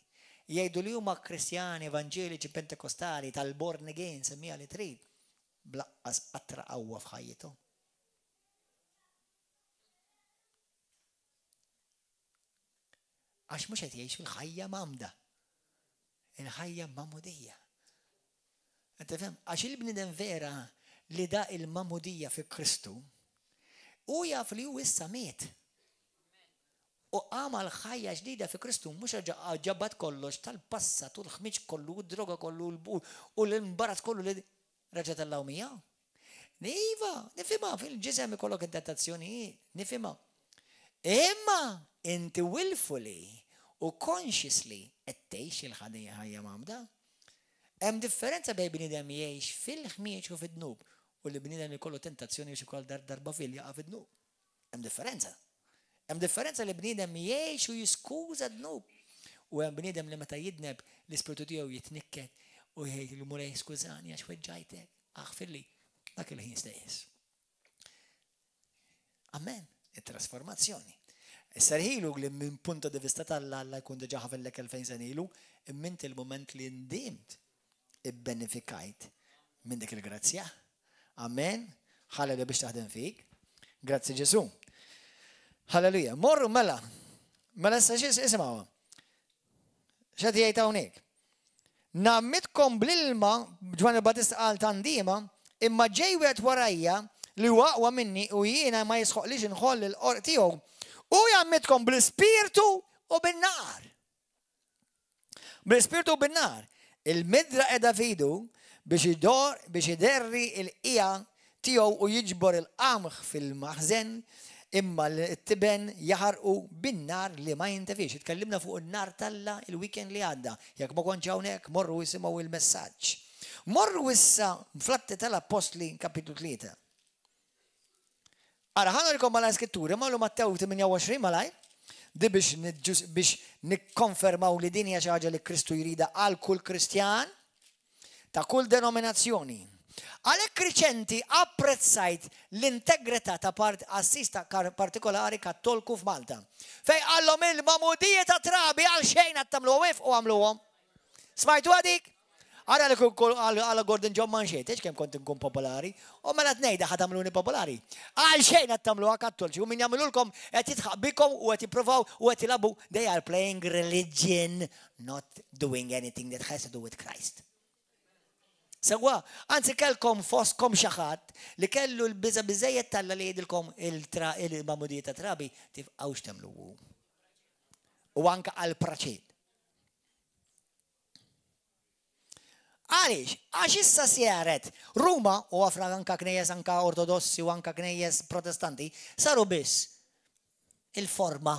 jgħidu li huma Kristjani evanġeliċi Pentekostali tal-born again semmiha li trid, bl-aqqas qatra qawwa f'ħajjithom? Għax mhux qed jgħixu l-ħajja mgħammda. Il-ħajja magħmudija. Qed tifhem? Għax il-bniedem vera li da il-magħmudija fi Kristu, hu jaf li hu issa miet. U qam għal ħajja ġdida fi Kristu, mhux reġa' ġabad kollox tal-passat u l-ħmiġ kollu u d-droga kollu u l-imbarazz kollu li reġa' tellgħu miegħu. Iva, nifhimha, fil-ġisem ikollok it-tentazzjonijiet, nifhimha. Imma inti willfully u consciously qed tgħix il-ħajja mgħammda. Hemm differenza bejn bniedem jgħix fil-ħmieġ u fid-dnub u li bniedem jkollu tentazzjoni biex ukoll darba fil jaqa' fid-dnub. Hemm differenza. Hemm differenza li bniedem jgħix u jiskuża dnub. U hemm bniedem li meta jidneb l-ispirtu tiegħu jitnikket u jgħid il-Mulej skużani għax weġġajtek, aħfirli dak il-ħin stess. Amen. Il-trasformazzjoni. Issa rħilu li minn punto di vista tal-Alla Alla jkun diġà ħafillek 2000 sena ilu, imma inti l-moment li ndimt ibbenefikajt minn dik il-grazzja. Amen. Ħalli biex taħdem fik. Grazzi Ġesu. Halleluja. Morru mela. Mela issa xi isimgħu. X'qed jgħid hawnhekk? Ngħammidkom bl-ilma, Ġwanni l-Battista qal ta' ndiema, imma ġej wieħed warajja li huwa aqwa minni u jiena ma jisħoqlix inħoll il-qorq tiegħu. Hu jgħammidkom bl-Ispirtu u bin-nar. Bl-Ispirtu u bin-nar. Il-midra qiegħda f'idu biex idor biex iderri l-qiegħa tiegħu u jiġbor il-qamħ fil-maħżen, imma t-tiben jaħarqu bin-nar li ma jintefiex. Itkellimna fuq in-nar t'Alla il-weekend li għadda. Jekk ma kontx hawnhekk, morru isimgħu il-messaġġ. Morru issa fl-Atti tal-Appostli kapitlu 3. Ara, ħa nurikom malajr skritturi, morru Mattew 28 malajr, di biex biex nikkonfermaw li din hija xi ħaġa li Kristu jridha għal kull Kristjan ta' kull denominazzjoni. Għalhekk riċenti apprezzajt l-integrità ta' part qassis ta' partikolari Kattolku f'Malta, fejn qallhom il-magħmudija ta' trabi għal xejn għad tagħmluha wifqu għamluhom. Smajtuha dik? Ara li kull għala Gordon John Manché, tgħidx kemm kont inkun popolari, u mela tnejda ħa tagħmluni popolari. Għal xejn qed tagħmluha Kattolċi u min jagħmilulkom qed jidħaq bikom u qed jippruvaw u qed jilagħbu they are playing religion not doing anything that has to do with Christ. Sewwa, anzi kellkom fostkom xi ħadd li kellu l-biża' biżejjed t'Alla li jgħidilkom il-magħmudija ta' trabi tifqgħux tagħmluhu. U anke għal praċid. Għaliex? Għax issa sjaret Ruma u għafra anka knejjes anka ortodossi u anka knejjes protestanti saru biss il-forma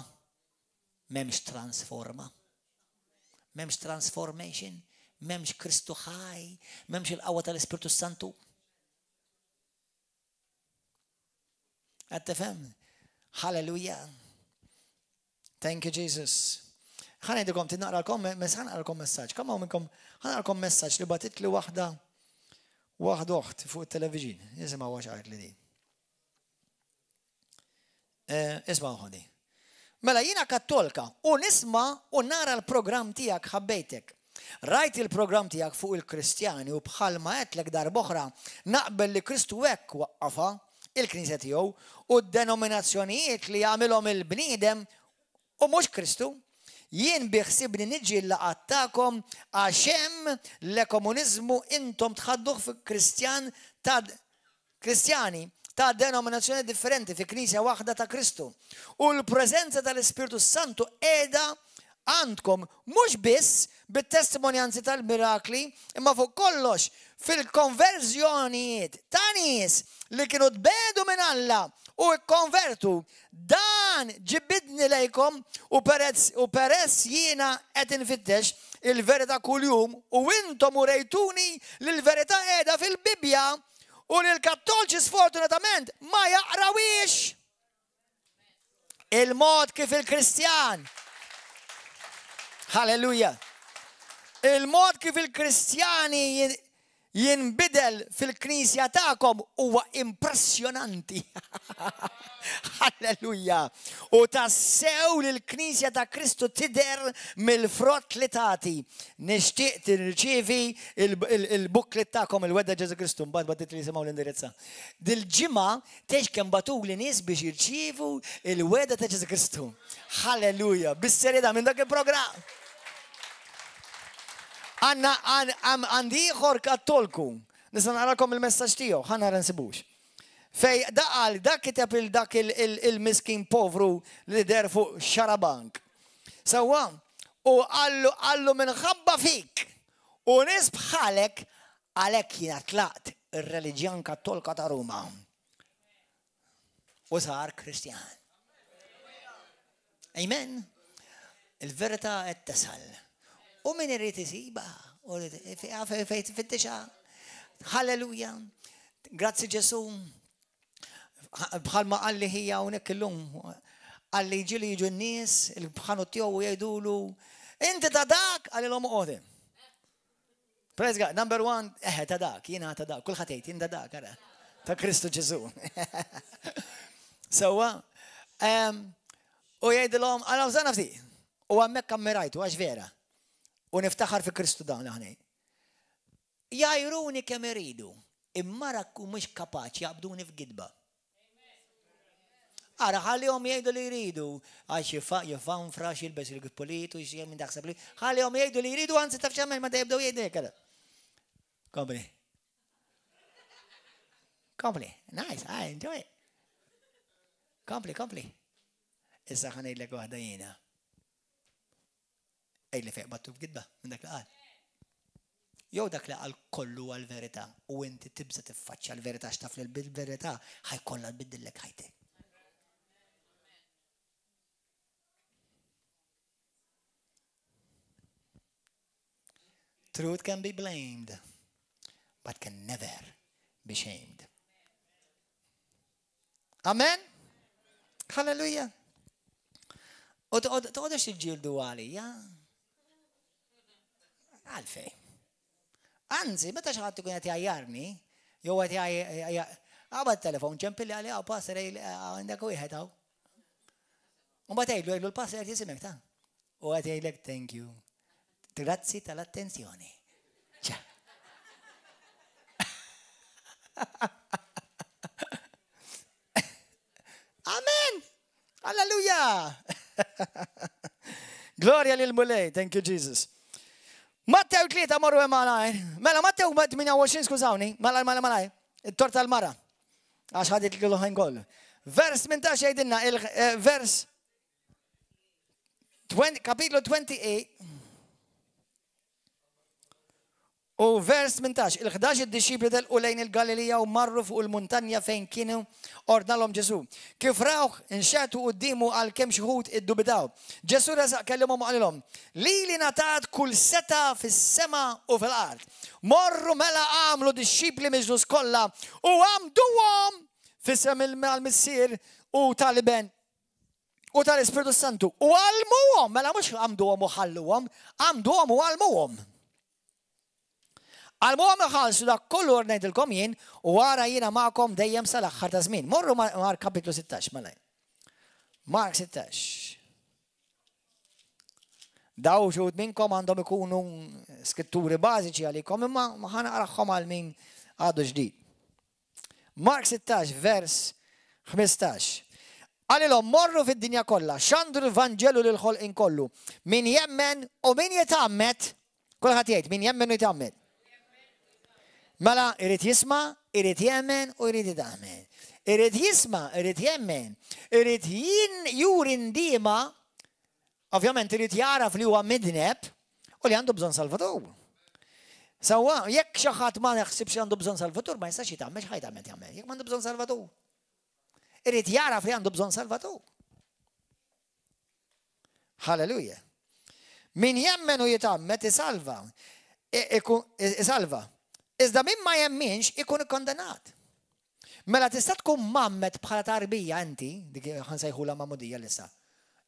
m'hemmx transforma. M'hemmx transformation, m'hemmx Kristu ħaj, m'hemmx il-qawwa tal-Ispirtu Santu. Qed tifhem? Halleluja. Thank you Jesus. Ħa ngħidilkom tinaqralkom, ħa naqralkom messaġġ. Kemm hawn minnkom ħa naqralkom messaġġ li bagħtitli waħda waħda oħt fuq it-television. Isimgħu għax qalt li din. Eh, isma' ħodi. Mela jiena kattolka u nisma' u nara l-programm tiegħek ħabbejtek. Rajt il-programm tiegħek fuq il-Kristjani u bħalma għedtlek darb'oħra naqbel li Kristu hekk waqqafha il-Knisja tiegħu u d-denominazzjonijiet li jagħmilhom il-bniedem u mhux Kristu. Jien bi ħsibni niġi l-laqgħat tagħkom għax hemm l-ekomuniżmu intom tħadduh fi Kristjan ta' Kristjani ta' denominazzjoni differenti fi Knisja waħda ta' Kristu. U l-preżenza tal-Ispirtu s-Santu qiegħda għandkom mhux biss bit-testimonjanzi tal-mirakli imma fuq kollox fil-konverżjonijiet ta' nies li kienu tbiegħdu minn Alla u kkonvertu. Dan ġibidni lejkom u peress u peress jiena qed infittex il-verità kuljum u intom urejtuni li l-verità qiegħda fil-Bibbja u li l-Kattolċi sfortunatament ma jaqrawhiex. Il-mod kif il-Kristjan Halleluja. Il-mod kif il-Kristjani jinbidel fil-knisja tagħkom huwa impressjonanti. Halleluja! U tassew li l-Knisja ta' Kristu tidher mill-frott li tagħti. Nixtieq tirċievi il-booklet tagħkom il-Wegħda Ġesù Kristu mbagħad bagħtitli jisimgħu l-indirizza. Dil-ġimgħa tgħidx kemm bagħtuli nies biex jirċievu il-Wegħda ta' Ġesù Kristu. Halleluja! Bis-serjetà minn dak il-programm. Għandna għandi ieħor kattolku. Nista' naqralkom il-messaġġ tiegħu, ħa nara nsibux. Fej da qal, dak kiteb il dak il-miskin povru li der fuq xarabank. Sewwa, u qallu qallu minħabba fik u nies bħalek għalhekk jiena tlaqt ir-reliġjon Kattolka ta' Ruma. U sar Kristjan. Amen. Il-verità qed tasal. U min irid isibha, u fejn tfittixha. Halleluja. Grazzi Ġesu. Bħalma qalli ħija hawnhekk illum. Qalli ġieli jiġu n-nies, il-ħanut tiegħu u jgħidulu, inti ta' dak, qalilhom oqgħod. Praise God, number one, eħe ta' dak, jiena ta' dak, kulħadd jgħid jien ta' dak, ara. Ta' Kristu Ġesu. Sewwa, u jgħidilhom, għala bżonna ftit. U hemmhekk ammirajtu għax vera. U niftaħar fi Kristu dawn aħna. Jgħajruni kemm iridu, imma rakku mhux kapaċi jaqbduni f'gidba. Ara ħallihom jgħidu li jridu, għax jifanfra, jilbes il-pulitu, minn daħseb li. Ħallihom jgħidu li jridu, anzi taf x'għamel meta jibdew jgħidu hekk. Kompli. Kompli. Nice, I enjoy it. Kompli, kompli. Issa ħa ngħidlek waħda jiena. Ejli fejn battu f'gidba minn dak li qal. Jew dak li qal kollu għal-verità u inti tibża tiffaċċja l-verità x'taf li bil-verità ħajkollha tbiddillek ħajtek. Truth can be blamed, but can never be shamed. Amen? Halleluja. U toqgħodux tiġġieldu għalija. Għalfej. Anzi, meta xi ħadd ikun qed jgħajjarni, jew qed qabad telefon ċempilli għalija u passer għandek wieħed hawn. U mbagħad tgħidlu għidlu l-passer qed jisimek ta' u qed jgħidlek thank you. Grazzi tal-attenzjoni. Ċa. Amen! Alleluja! Gloria lil Mulej, thank you Jesus. Mattew 3 morru hemm malajr. Mela Mattew 28 skużawni, malajr malajr malajr. It-torta tal-mara. Għax ħadet l-ħin kollu. Vers 18 jgħidilna il-vers eh, kapitlu 28 U vers 18, il-11 id-dixxipli telqu lejn il-Galilija u marru fuq il-muntanja fejn kienu ordnalhom Ġesù. Kif rawh, inxeħtu quddiemu għalkemm xi wħud iddubitaw. Ġesù resaq kellimhom u qalilhom, Lili ngħatat kull setgħa fis-sema u fil-art. Morru mela agħmlu dixxipli mill-ġnus kollha u għammduhom f'isem il-Missier u tal-Iben u tal-Ispirtu Santu. U għallmuhom, mela mhux għamduhom u ħalluhom, għamduhom u għallmuhom. Għallmuhom iħallsu dak kollu ordnajtilkom jien u ara jiena magħkom dejjem sal-aħħar ta' żmien. Morru Mark kapitlu 16 malaj. Mark 16. Daw xud minnkom għandhom ikunu skritturi bażiċi għalikom imma ma ħanaqraħħom għal min għadu ġdid. Mark 16, vers 15. Qalilhom, Morru fid-dinja kollha, xandru l-Vanġelu lill-ħolqien kollu. Min jemmen u min jitgħammed, kulħadd jgħid, min jemmen u jitgħammed. Mela, irid jisma', irid jemmen u jrid jitgħammed. Irid jisma', irid jemmen, irid juri ndiema, Ovvjament irid jagħraf li huwa midneb u li għandu bżonn Salvatur. Sewwa, jekk xi ħadd ma jaħsibx li għandu bżonn Salvatur, ma jistax jitgħammed x'ħa jitgħammed jagħmel, jekk m'għandu bżonn Salvatur. Irid jagħraf li għandu bżonn Salvatur. Halleluja. Min jemmen u jitgħammed isalva. Isalva. Iżda min ma jemminx ikun ikkondannat. Mela tista' tkun mgħammed bħala tarbija inti, dik ħa nsejħulha magħmudija l-issa,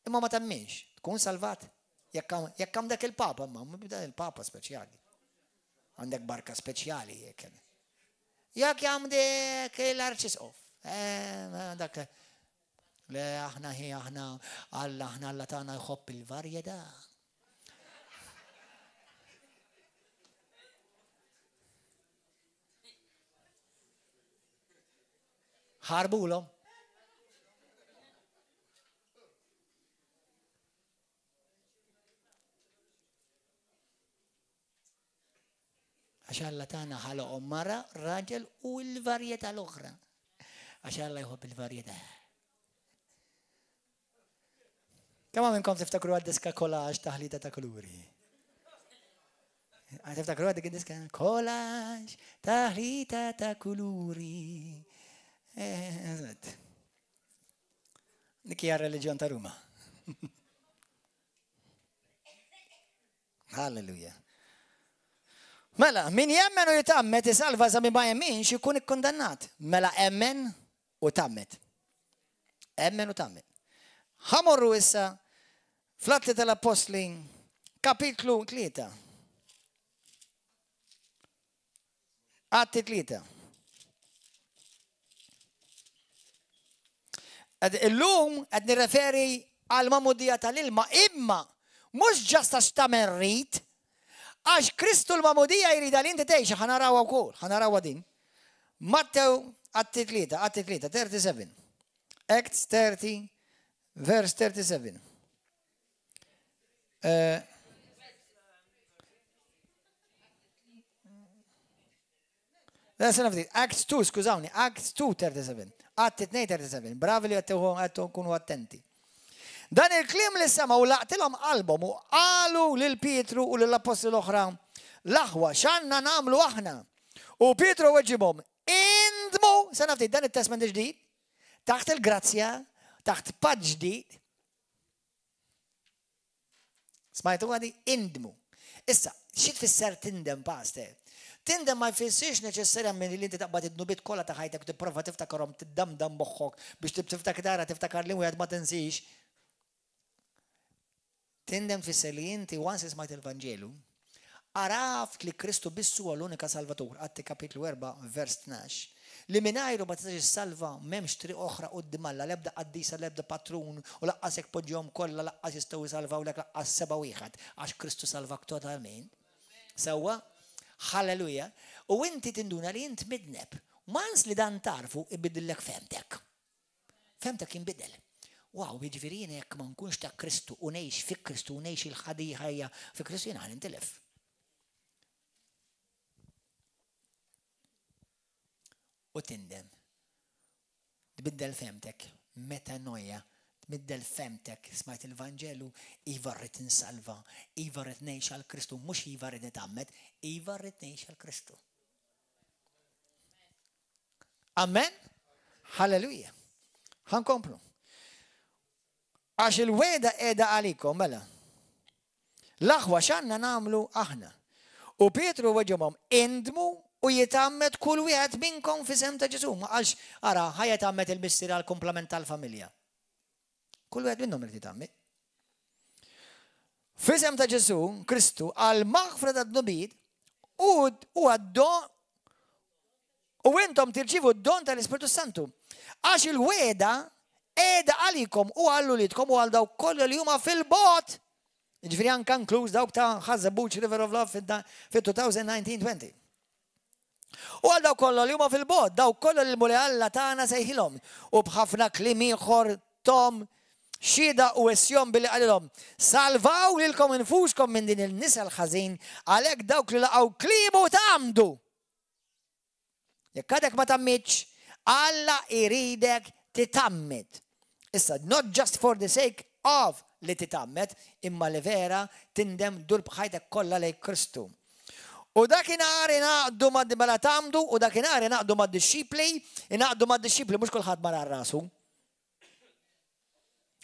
imma ma temminx, tkun salvat. Jekk għandek il-Papa, imma il-Papa speċjali. Għandek barka speċjali jekk. Jekk għandek l-Arċisqof, eh, dak le aħna hi aħna Alla aħna Alla tagħna jħobb il-varjetà. Ħarbulhom. Għax Alla tagħna ħaloqhom mara, raġel u l-varjetà l-oħra. Għax Alla jħobb il-varjetà. Kemm minnkom tiftakru għad-diska collage taħlita ta' kuluri? Tiftakru għad dik diska collage taħlita ta' kuluri. Eh, dik hija reliġjon ta' Ruma. Halleluja. Mela, min jemmen u jitammet isalva za min ma jemminx ikun ikkundannat. Mela emmen u tgħammed. Emmen u tgħammed. Ħa morru issa fl-Atti tal-Appostli kapitlu 3. Atti 3. Illum qed nirreferi għal magħmudija tal-ilma imma mhux ġast għax tagħmel rit, għax Kristu l-magħmudija jridha li inti tgħixha ħa narawha wkoll, ħa narawha din. Mattew Atti 3, Atti 3, 37. Acts 30, verse 37. Uh, Acts 2, skużawni, Acts 2, 37. Atti 2, 37. Bravi li għattu kunu attenti. Dan il-kliem li semgħu laqtilhom qalbhom u qalu lil Pietru u lill-appostli l-oħra, L-aħwa, x'għandna nagħmlu aħna? U Pietru weġibhom, Indmu! Sena ftit, dan it-Testment il-Ġdid, taħt il-grazzja, taħt patt ġdid. Smajtu għadi? Indmu. Issa, xi tfisser tindem, pastor? Tindem ma jfissirx neċessarjament li inti taqbad id-dnubiet kollha ta' ħajtek u tipprova tiftakarhom tiddamdam moħħok biex tiftakar tara tiftakar li wieħed ma tinsix. Tindem tfisser li inti once li smajt il-Vanġelu, għaraft li Kristu biss huwa l-unika Salvatur, Atti kapitlu 4 vers 12, li mingħajru ma tistax issalva, m'hemmx triq oħra quddiem Alla, l-ebda qaddisa, l-ebda patrun, u laqqas jekk poġġihom kollha laqqas jistgħu jsalvawlek laqqas seba' wieħed, għax Kristu salvak totalment. Sewwa? Halleluja! U inti tinduna li int midneb. Once li dan tagħrfu ibiddillek fehmtek. Fehmtek jinbidel. Wow, jiġifieri jiena jekk ma nkunx ta' Kristu u ngħix fi Kristu u ngħix il-ħadi ħajja fi Kristu jiena ħa nintilef. U tindem. Tbiddel fehmtek, metanoia, tbiddel fehmtek, smajt il-Vanġelu, iva rrid insalva, iva rrid ngħix għal Kristu, mhux iva rrid nitgħammed, iva rrid ngħix għal Kristu. Amen? Halleluja. Ħankomplu. Għax il-weda qiegħda għalikom, mela. L-aħwa x'għandna nagħmlu aħna? U Pietru weġibhom, indmu u jitgħammed kull wieħed minnkom f'isem ta' Ġesù. Ma qalx, ara, ħa jitgħammed il-missier għall-kumplament tal-familja. Kull wieħed minnhom irid jitgħammed. F'isem ta' Ġesù Kristu għal maħfra ta' dnubiet u għad-don u intom tirċivu d-don tal-Ispirtu Santu. Għax il-weda qiegħda għalikom u għal uliedkom u għal dawk kollha li huma fil-bogħod. Ġifieri anke inkluż dawk ta' Ħaż-Żebbuġ River of Love fit-2019-20. U għal dawk kollha li huma fil-bogħod, dawk kollha li l-Mulej Alla tagħna sejħilhom, u b'ħafna kliem ieħor thom xhieda u wissjhom billi qalilhom, Salvaw lilkom infuskom minn din il-nisel ħażin, għalhekk dawk li laqgħu kliemu tgħammdu. Jekk għadek ma tgħammidx, Alla jridek titgħammed. Issa, not just for the sake of li titgħammed, imma li vera tindem dur b'ħajtek kollha lejn Kristu. U dakinhar ingħaqdu ma' mela tgħammdu u dakinhar ingħaqdu mad-dixxipli, ingħaqdu mad-dixxipli mhux kulħadd mar għal rasu.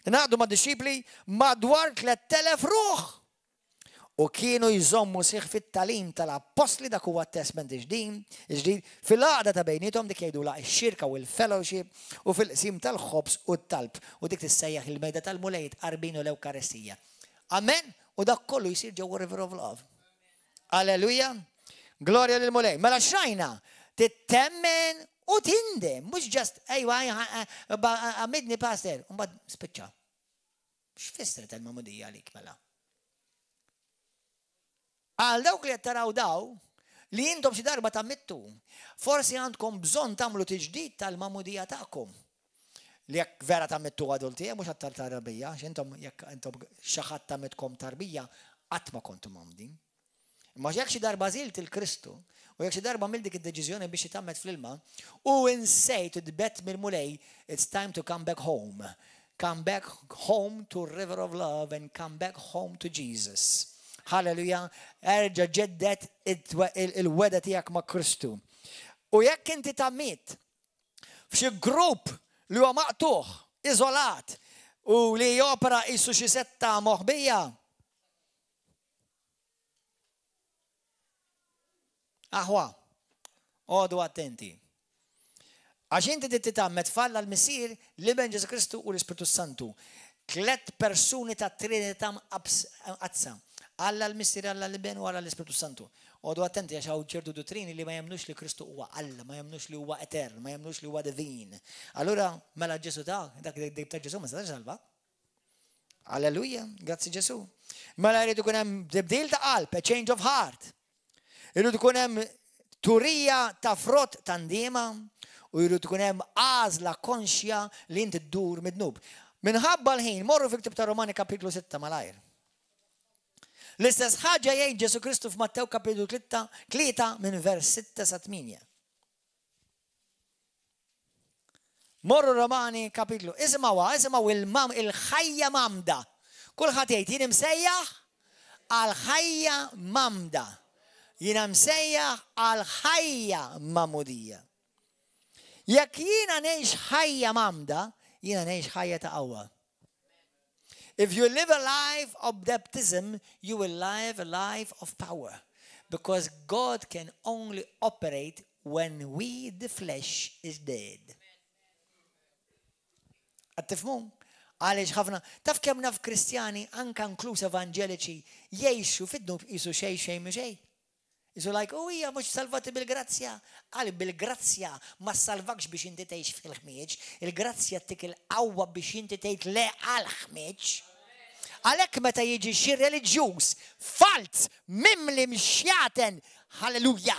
Ingħaqdu mad-dixxipli madwar 3000 ruħ. U kienu jżommu sħiħ fit-tagħlim tal-appostli dak huwa t-Testment il-Ġdid, fil-għaqda ta' bejniethom dik jgħidulha x-xirka u l-fellowship u fil-qsim tal-ħobż u t-talb u dik tissejjaħ il-mejda tal-Mulej, it-tqarbin u l-Ewkaristija. Amen? U dak kollu jsir ġewwa River of Love. Alleluja! Glorja lill-Mulej. Mela x'rajna? Tittemmen u tindem, mhux ġast ejwa għamidni pastor, u mbagħad spiċċa. X'fissret il-magħmudija għalik mela? Għal dawk li qed taraw daw, li intom xi darba tgħammidtu, forsi għandkom bżonn tagħmlu tiġdid tal-magħmudija tagħkom. Li jekk vera tgħammidtu adulti, eh, mhux għat tarbija, għax intom jekk intom xi ħadd tgħammidkom tarbija, qatt ma kontu mgħammdin. Imma jekk xi darba għażilt il-Kristu, u jekk xi darba għamilt dik id-deċiżjoni biex titgħammed fl-ilma, u insejt u tbegħedt mill-Mulej, it's time to come back home. Come back home to river of love and come back home to Jesus. Halleluja, erġa' ġedded il-wegħda tiegħek ma' Kristu. U jekk inti tgħammidt f'xi grupp li huwa maqtugħ, iżolat, u li jopera qisu xi setta moħbija, Aħwa, għodu attenti. Għax inti trid titgħammed f'Alla l-Missier, l-Iben Ġesu Kristu u l-Ispirtu Santu. Tlet persuni ta' Trinità mqaddsa. Alla l-Missier, Alla l-Iben u Alla l-Ispirtu Santu. Għodu attenti għax hawn ċertu duttrini li ma jemmnux li Kristu huwa Alla, ma jemmnux li huwa etern, ma jemmnux li huwa divin. Allura, mela Ġesu ta' dak ta' Ġesu ma setax salva. Alleluja, grazzi Ġesu. Mela jrid ikun hemm tibdil ta' qalb, a change of heart. Irid ikun hemm turija ta' frott ta' ndiema U jrid ikun hemm għażla konxja li inti ddur mid-dnub. Minħabba l-ħin, morru fil-ktib ta' Romani kapitlu 6 malajr. L-istess ħaġa jgħid Ġesu Kristu f'Mattew kapitlu 3 minn vers 6 sa 8. Morru Romani kapitlu. Isimgħuha, isimgħu il-mam il-ħajja mamda. Kulħadd jgħid jien imsejjaħ għal ħajja mamda. Jiena msejjaħ għal ħajja mamudija. Jekk jiena ngħix ħajja mamda, jiena ngħix ħajja ta' qawwa. If you live a life of baptism, you will live a life of power. Because God can only operate when we, the flesh, is dead. Qed tifhmu? Għaliex ħafna, taf kemm naf Kristjani, anka inkluż evanġeliċi, jgħixu fid-dnub qisu xejn xejn mhu xejn. Qisu like, oh hija mhux salvati bil-grazzja. Għal bil-grazzja ma ssalvakx biex inti tgħix fil-ħmieġ, il-grazzja ttik il-qawwa biex inti tgħid le għall-ħmieġ. Għalhekk meta jiġi xi reliġjuż falz mimli mxjaten, halleluja!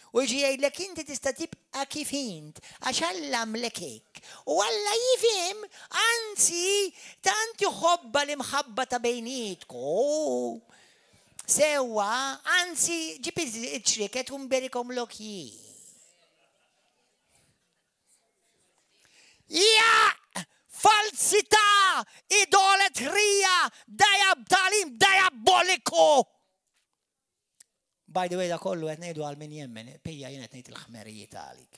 U jiġi jgħidlek inti tista' tibqa' kif int għax Alla għamlek hekk. U Alla jifhem, anzi tant iħobbha l-imħabba ta' bejnietkom. Sewwa, anzi ġib iċ-ċrieket u nberikomlok jien. Ja! Falsità! Idoletrija! Dajab tagħlim diaboliku! By the way, da kollu qed ngħidu għal min jemmen, pija jien qed ngħid il-ħmerijiet għalik.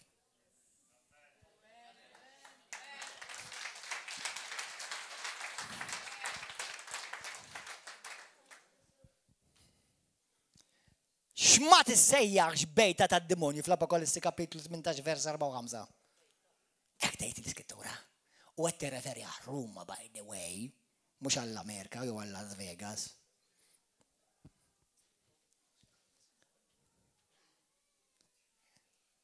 X'ma tissejjaħx bejta tad-demonju fl-Apokalissi kapitlu 18 vers 4 u 5. Hekk tgħid l-Iskrittura. U qed tirreferi għal Ruma by the way, mhux għall-Amerika jew għal Las Vegas.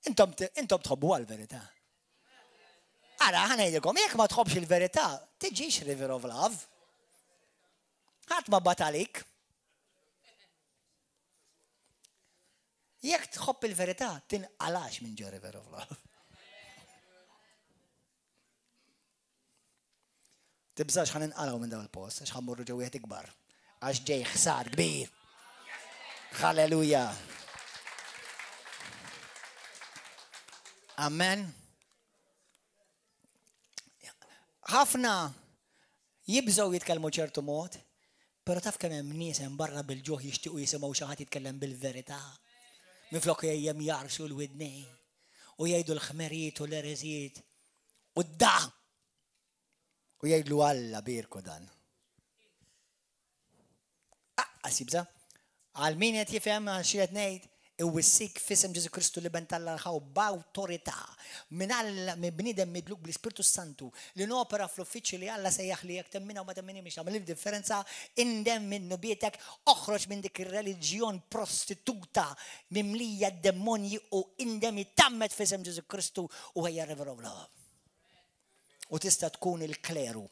Intom, intom tħobbu għal-verità. Ara, ħanejdilkom, jekk ma tħobbx il-verità, tiġix River of Love. Ħadd ma bat għalik. Jekk tħobb il-verità, tinqalax minn ġo River of Love. Tibżax ħa ninqalgħu minn dawn il-post, għax ħa mmorru ġo wieħed ikbar. Għax ġej ħsad kbir. Halleluja. Amen. Ħafna jibżgħu jitkellmu ċertu mod, però taf kemm hemm nies hemm barra bil-ġuħ jixtiequ jisimgħu xi ħadd jitkellem bil-verità. Minflok dejjem jarxu l-widnej u jgħidu l-ħmerijiet u l-ereżijiet u d-da. U jgħidlu Alla bierku dan. Aqqas jibża. Għal min qed jifhem għal xi qed ngħid, iwissik f'isem Ġesu Kristu li ben tal ħaw b'awtorità minn Alla minn bniedem midluk bl-Ispirtu Santu li nopera fl-uffiċċju li Alla sejjaħ li jekk temmina u ma temmini mhix tagħmel differenza indem minn nubietek oħroġ minn dik ir-reliġjon prostituta mimlija demonji u indem ittammet f'isem Ġesu Kristu u ejja River of Love. U tista' tkun il-kleru.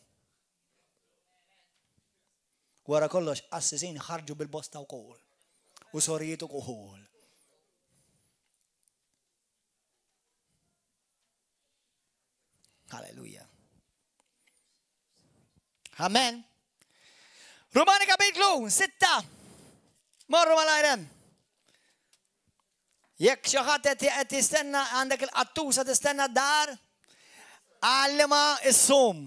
Wara kollox, qassisin ħarġu bil-bosta wkoll. U sorijiet ukoll. Halleluja. Amen. Romani kapitlu 6. Morru mal-ajrem. Jekk xi ħadd qed jistenna għandek il-qattusa tistenna d-dar, għallima issum.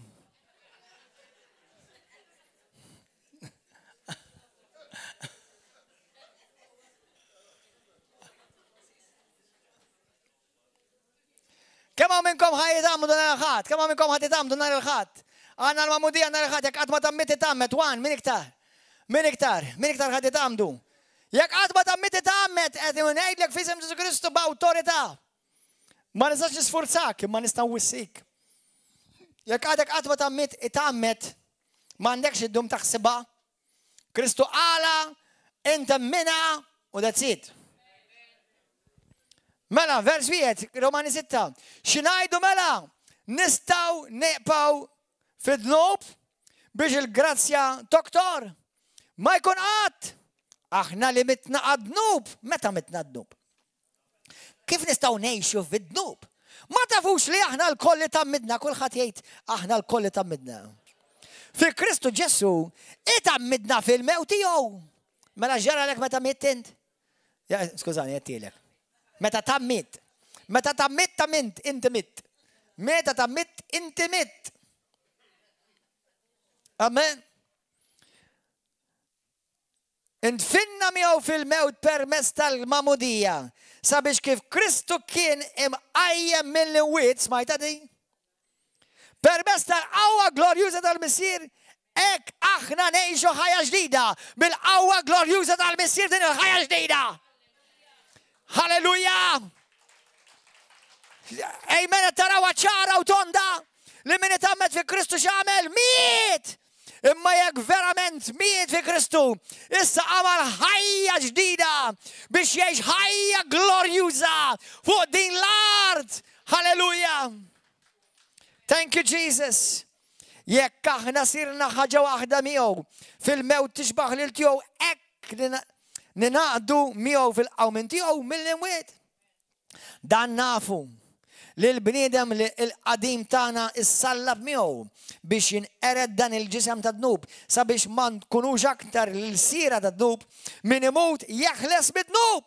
Kemm hawn minnkom ħa jitgħammdu nhar il-Ħadd? Kemm hawn minnkom ħa titgħammdu nhar il-Ħadd? Għandna l-magħmudija nhar il-Ħadd, jekk qatt ma tgħammidt itgħammed, one, min iktar? Min iktar? Min iktar ħa titgħammdu? Jekk qatt ma tgħammidt itgħammed, qed ngħidlek f'isem Ġesu Kristu b'awtorità. Ma nistax nisfurzak, imma nista' nwissik. Jekk għadek qatt ma tgħammidt itgħammed, m'għandekx iddum taħsibha. Kristu qala, int emminha u that's it. Mela, vers wieħed, Romani 6. X'ngħidu mela? Nistgħu neqpaw fid-dnub biex il-grazzja toktor? Ma jkun qatt! Aħna li mitna għad-dnub, meta mitna d-dnub? Kif nistgħu ngħixu fid-dnub? Ma tafux li aħna lkoll li tgħammidna, kulħadd jgħid aħna lkoll li tgħammidna. Fi Kristu Ġesù itgħammidna fil-mewt tiegħu. Mela x'ġaralek meta mitt int? Skużani, għedtilek. Meta tgħammidt. Meta tgħammidt tgħammidt, inti mitt. Meta tgħammidt inti mitt. Amen. Indfinna miegħu fil-mewt permezz tal-magħmudija, sabiex kif Kristu kien imqajjem mill-imwiet, smajtha din? Permezz tal-qawwa glorjuża tal-Missier, hekk aħna ngħixu ħajja ġdida bil-qawwa glorjuża tal-Missier din il-ħajja ġdida. Halleluja! Amen, tarawha ċara u tonda li min itgħammed fi Kristu x'għamel? Miet! Imma jekk verament miet fi Kristu, issa għamal ħajja ġdida biex jgħix ħajja glorjuża fuq din l-art. Halleluja! Thank you Jesus. Jekk aħna sirna ħaġa waħda miegħu fil-mewt tixbaħ lil tiegħu hekk ninaqdu miegħu fil-qawmin tiegħu mill-imwiet. Dan nafu li l-bniedem li l-qadim tagħna issallab miegħu biex jinqered dan il-ġisem ta' dnub sabiex ma nkunux aktar l-sira ta' dnub min imut jeħles mid-dnub.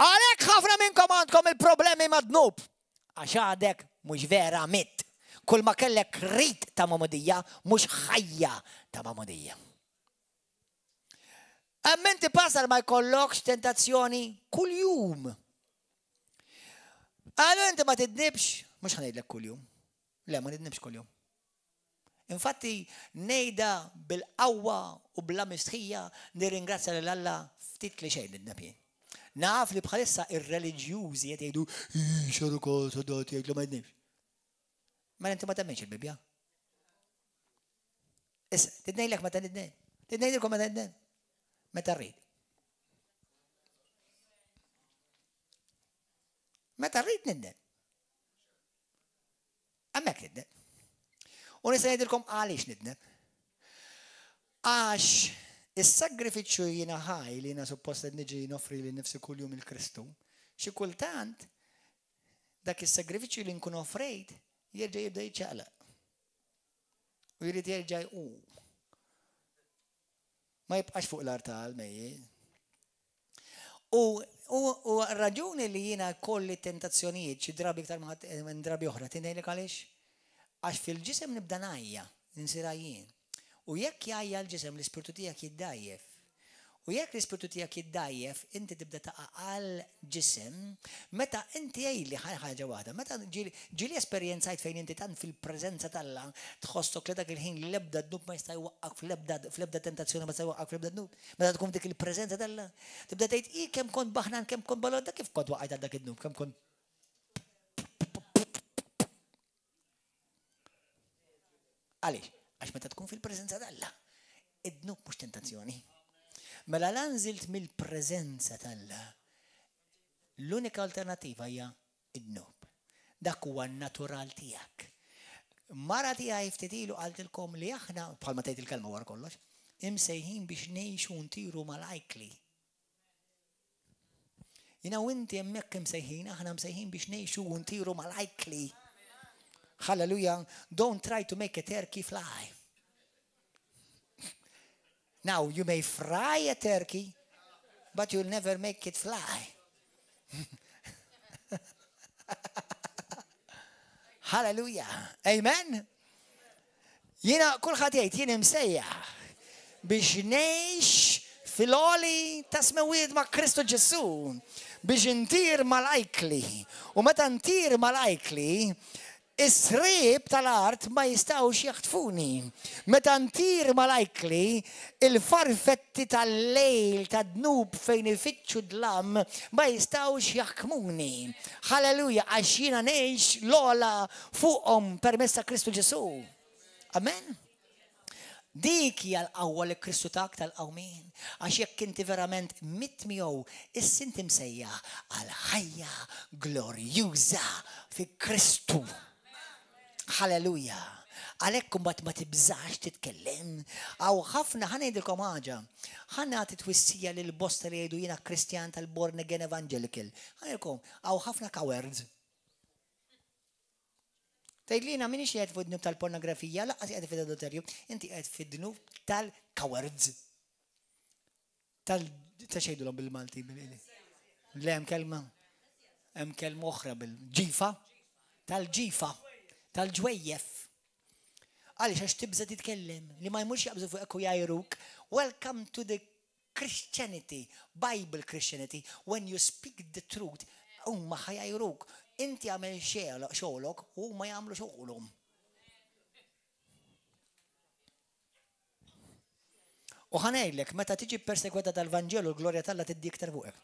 Għalhekk ħafna minnkom għandkom il-problemi ma' dnub. Għax għadek mhux vera mitt. Kull ma kellek rit ta' magħmudija mhux ħajja ta' magħmudija. Hemm inti pasar ma jkollokx tentazzjoni kuljum. Għalu inti ma tidnibx, mhux ħanejdlek kuljum. Le, ma nidnibx kuljum. Infatti, ngħidha bil-qawwa u bla mistħija nirringrazzja lil Alla ftit li xejn nidneb jien. Naf li bħalissa ir-reliġjużi qed jgħidu xaru kol sodat jgħid li ma jidnibx. Mela inti ma temminx il-Bibbja. Issa, tidnejlek meta nidneb. Tidnejlkom meta nidneb. Meta rrid. Meta rrid nidneb. Hemmhekk nidneb. U nista' ngħidilkom għaliex nidneb. Għax is-sagrifiċċju jiena ħaj li jiena suppost qed niġi noffri li nifsi kuljum il-Kristu, xi kultant dak is-sagrifiċċju li nkun offrejt jerġa' jibda jiċċaqlaq. U jrid jerġa' jqum. Ma jibqax fuq l-artal mejjet. U, u, u raġuni li jiena kolli tentazzjonijiet xi drabi iktar minn drabi oħra, tinejlek għaliex? Għax fil-ġisem nibda ngħajja, nsir għajjien. U jekk jgħajja l-ġisem l-ispirtu tiegħek jiddgħajjef. U jekk l-ispirtu tiegħek jiddgħajjef, inti tibda taqa' għall-ġisem, meta inti għidli ħaġa waħda, meta ġieli esperjenzajt fejn inti tant fil-preżenza t'Alla tħossok li dak il-ħin l-ebda dnub ma jista' jwaqqgħek fl-ebda fl-ebda tentazzjoni ma jista' jwaqqgħek fl-ebda dnub. Meta tkun f'dik il-preżenza t'Alla, tibda tgħid, i kemm kont baħnan, kemm kont balota, kif kont waqajt għal dak id-dnub, kemm kont Għaliex? Għax meta tkun fil-preżenza t'Alla, id-dnub mhux tentazzjoni. Mela la nżilt mill-preżenza t'Alla, l-unika alternativa hija id-dnub. Dak huwa n-natural tiegħek. Mara tiegħi ftit ilu qaltilkom li aħna, bħalma tgħid il-kelma wara kollox, imsejħin biex ngħixu ntiru mal-ajkli. Jina u inti hemmhekk imsejħin, aħna msejħin biex ngħixu u ntiru mal-ajkli. Hallelujah. Don't try to make a turkey fly. Now, you may fry a turkey, but you'll never make it fly. Hallelujah. Amen. Jiena kulħadd jgħid jien imsejjaħ biex ngħix fil-għoli ta' smewiet ma' Kristu Ġesù biex intir mal-ajkli. U meta ntir mal-ajkli, is-sriep tal-art ma jistgħux jaħtfuni. Meta ntir mal-ajkli, il-farfetti tal-lejl tad-dnub fejn ifittxu d-dlam ma jistgħux jaħkmuni. Halleluja, għax jiena ngħix l-ogħla fuqhom permezz ta' Kristu Ġesù. Amen. Dik hija l-qawwa li Kristu tak tal-qawmien. Għax jekk inti verament mitt miegħu, issa inti msejjaħ għal ħajja glorjuża fi Kristu. Halleluja. Għalhekk imbagħad ma tibżax titkellem. Hawn ħafna ħa ngħidilkom ħaġa. Ħa nagħti twissija lil bosta li jgħidu jiena Kristjan tal-Born Again Evangelical. Ħa ngħidilkom, hawn ħafna cowards. Tgħid li jiena m'iniex qiegħed fuq dnub tal-pornografija, lanqas qiegħed fid-adulterju, inti qiegħed fid-dnub tal-cowards. Tal ta' xejdulhom bil-Malti Le hemm kelma hemm kelma oħra bil-ġifa tal-ġifa tal-ġwejjef. Għaliex għax tibża titkellem li ma jmurx jaqbżu fuqek u jgħajruk. Welcome to the Christianity, Bible Christianity, when you speak the truth, huma ħa jgħajruk. Inti għamel xogħlok u huma jagħmlu xogħolhom. U ħa ngħidlek, meta tiġi persegwita tal-Vanġelu, l-glorja t'Alla tiddi iktar fuqek.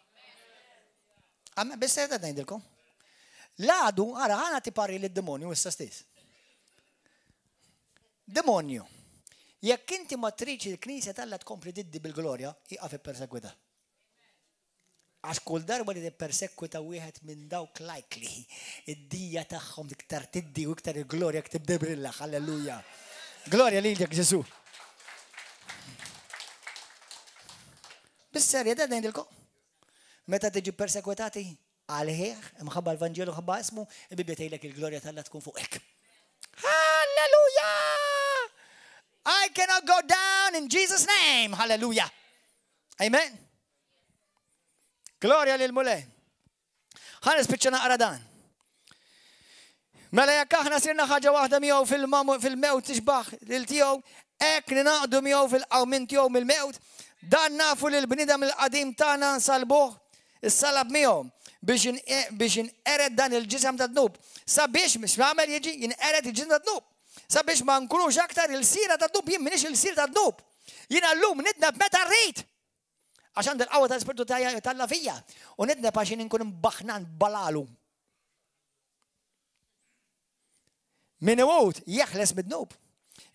Biss qed ngħidilkom. L-għadu, ara, ħana ti parri lid-demonju issa stess. Demonju, jekk inti ma tridx il-Knisja t'Alla tkompli tiddi bil-glorja, iqaf ippersegwita. Għax kull darba li tippersekwita wieħed minn dawk likely, id-dija tagħhom iktar tiddi u iktar il-glorja tibda brilla. Halleluja. Glorja lilek Ġesu. Bis-serja da ngħidilkom. Meta tiġi persekwitati għalih, imħabba l-Vanġelu ħabba ismu, il-Bibbja tgħidlek il-glorja t'Alla tkun fuqek. Halleluja! I cannot go down in Jesus' name. Hallelujah. Amen. Glorja lil Mulej. Ħa nispiċċa naqra dan. Mela jekk aħna sirna ħaġa waħda miegħu fil-mewt tixbaħ lil tiegħu, hekk ninaqdu miegħu fil-qawmien tiegħu mill-mewt, dan nafu li l-bniedem il-qadim tagħna nsalbuh is-salab miegħu biex inqered dan il-ġisem ta' dnub. Sabiex biex nagħmel jiġi jinqered il-ġisem ta' dnub. Sabiex ma nkunux aktar il-sira ta' dnub, jien m'iniex il-sir ta' dnub. Jiena llum nidneb meta rrid. Għax għandi l-qawwa tal-Ispirtu t'Alla fija. U nidneb għax jien inkun imbaħnan balalu. Min imut jeħles mid-dnub.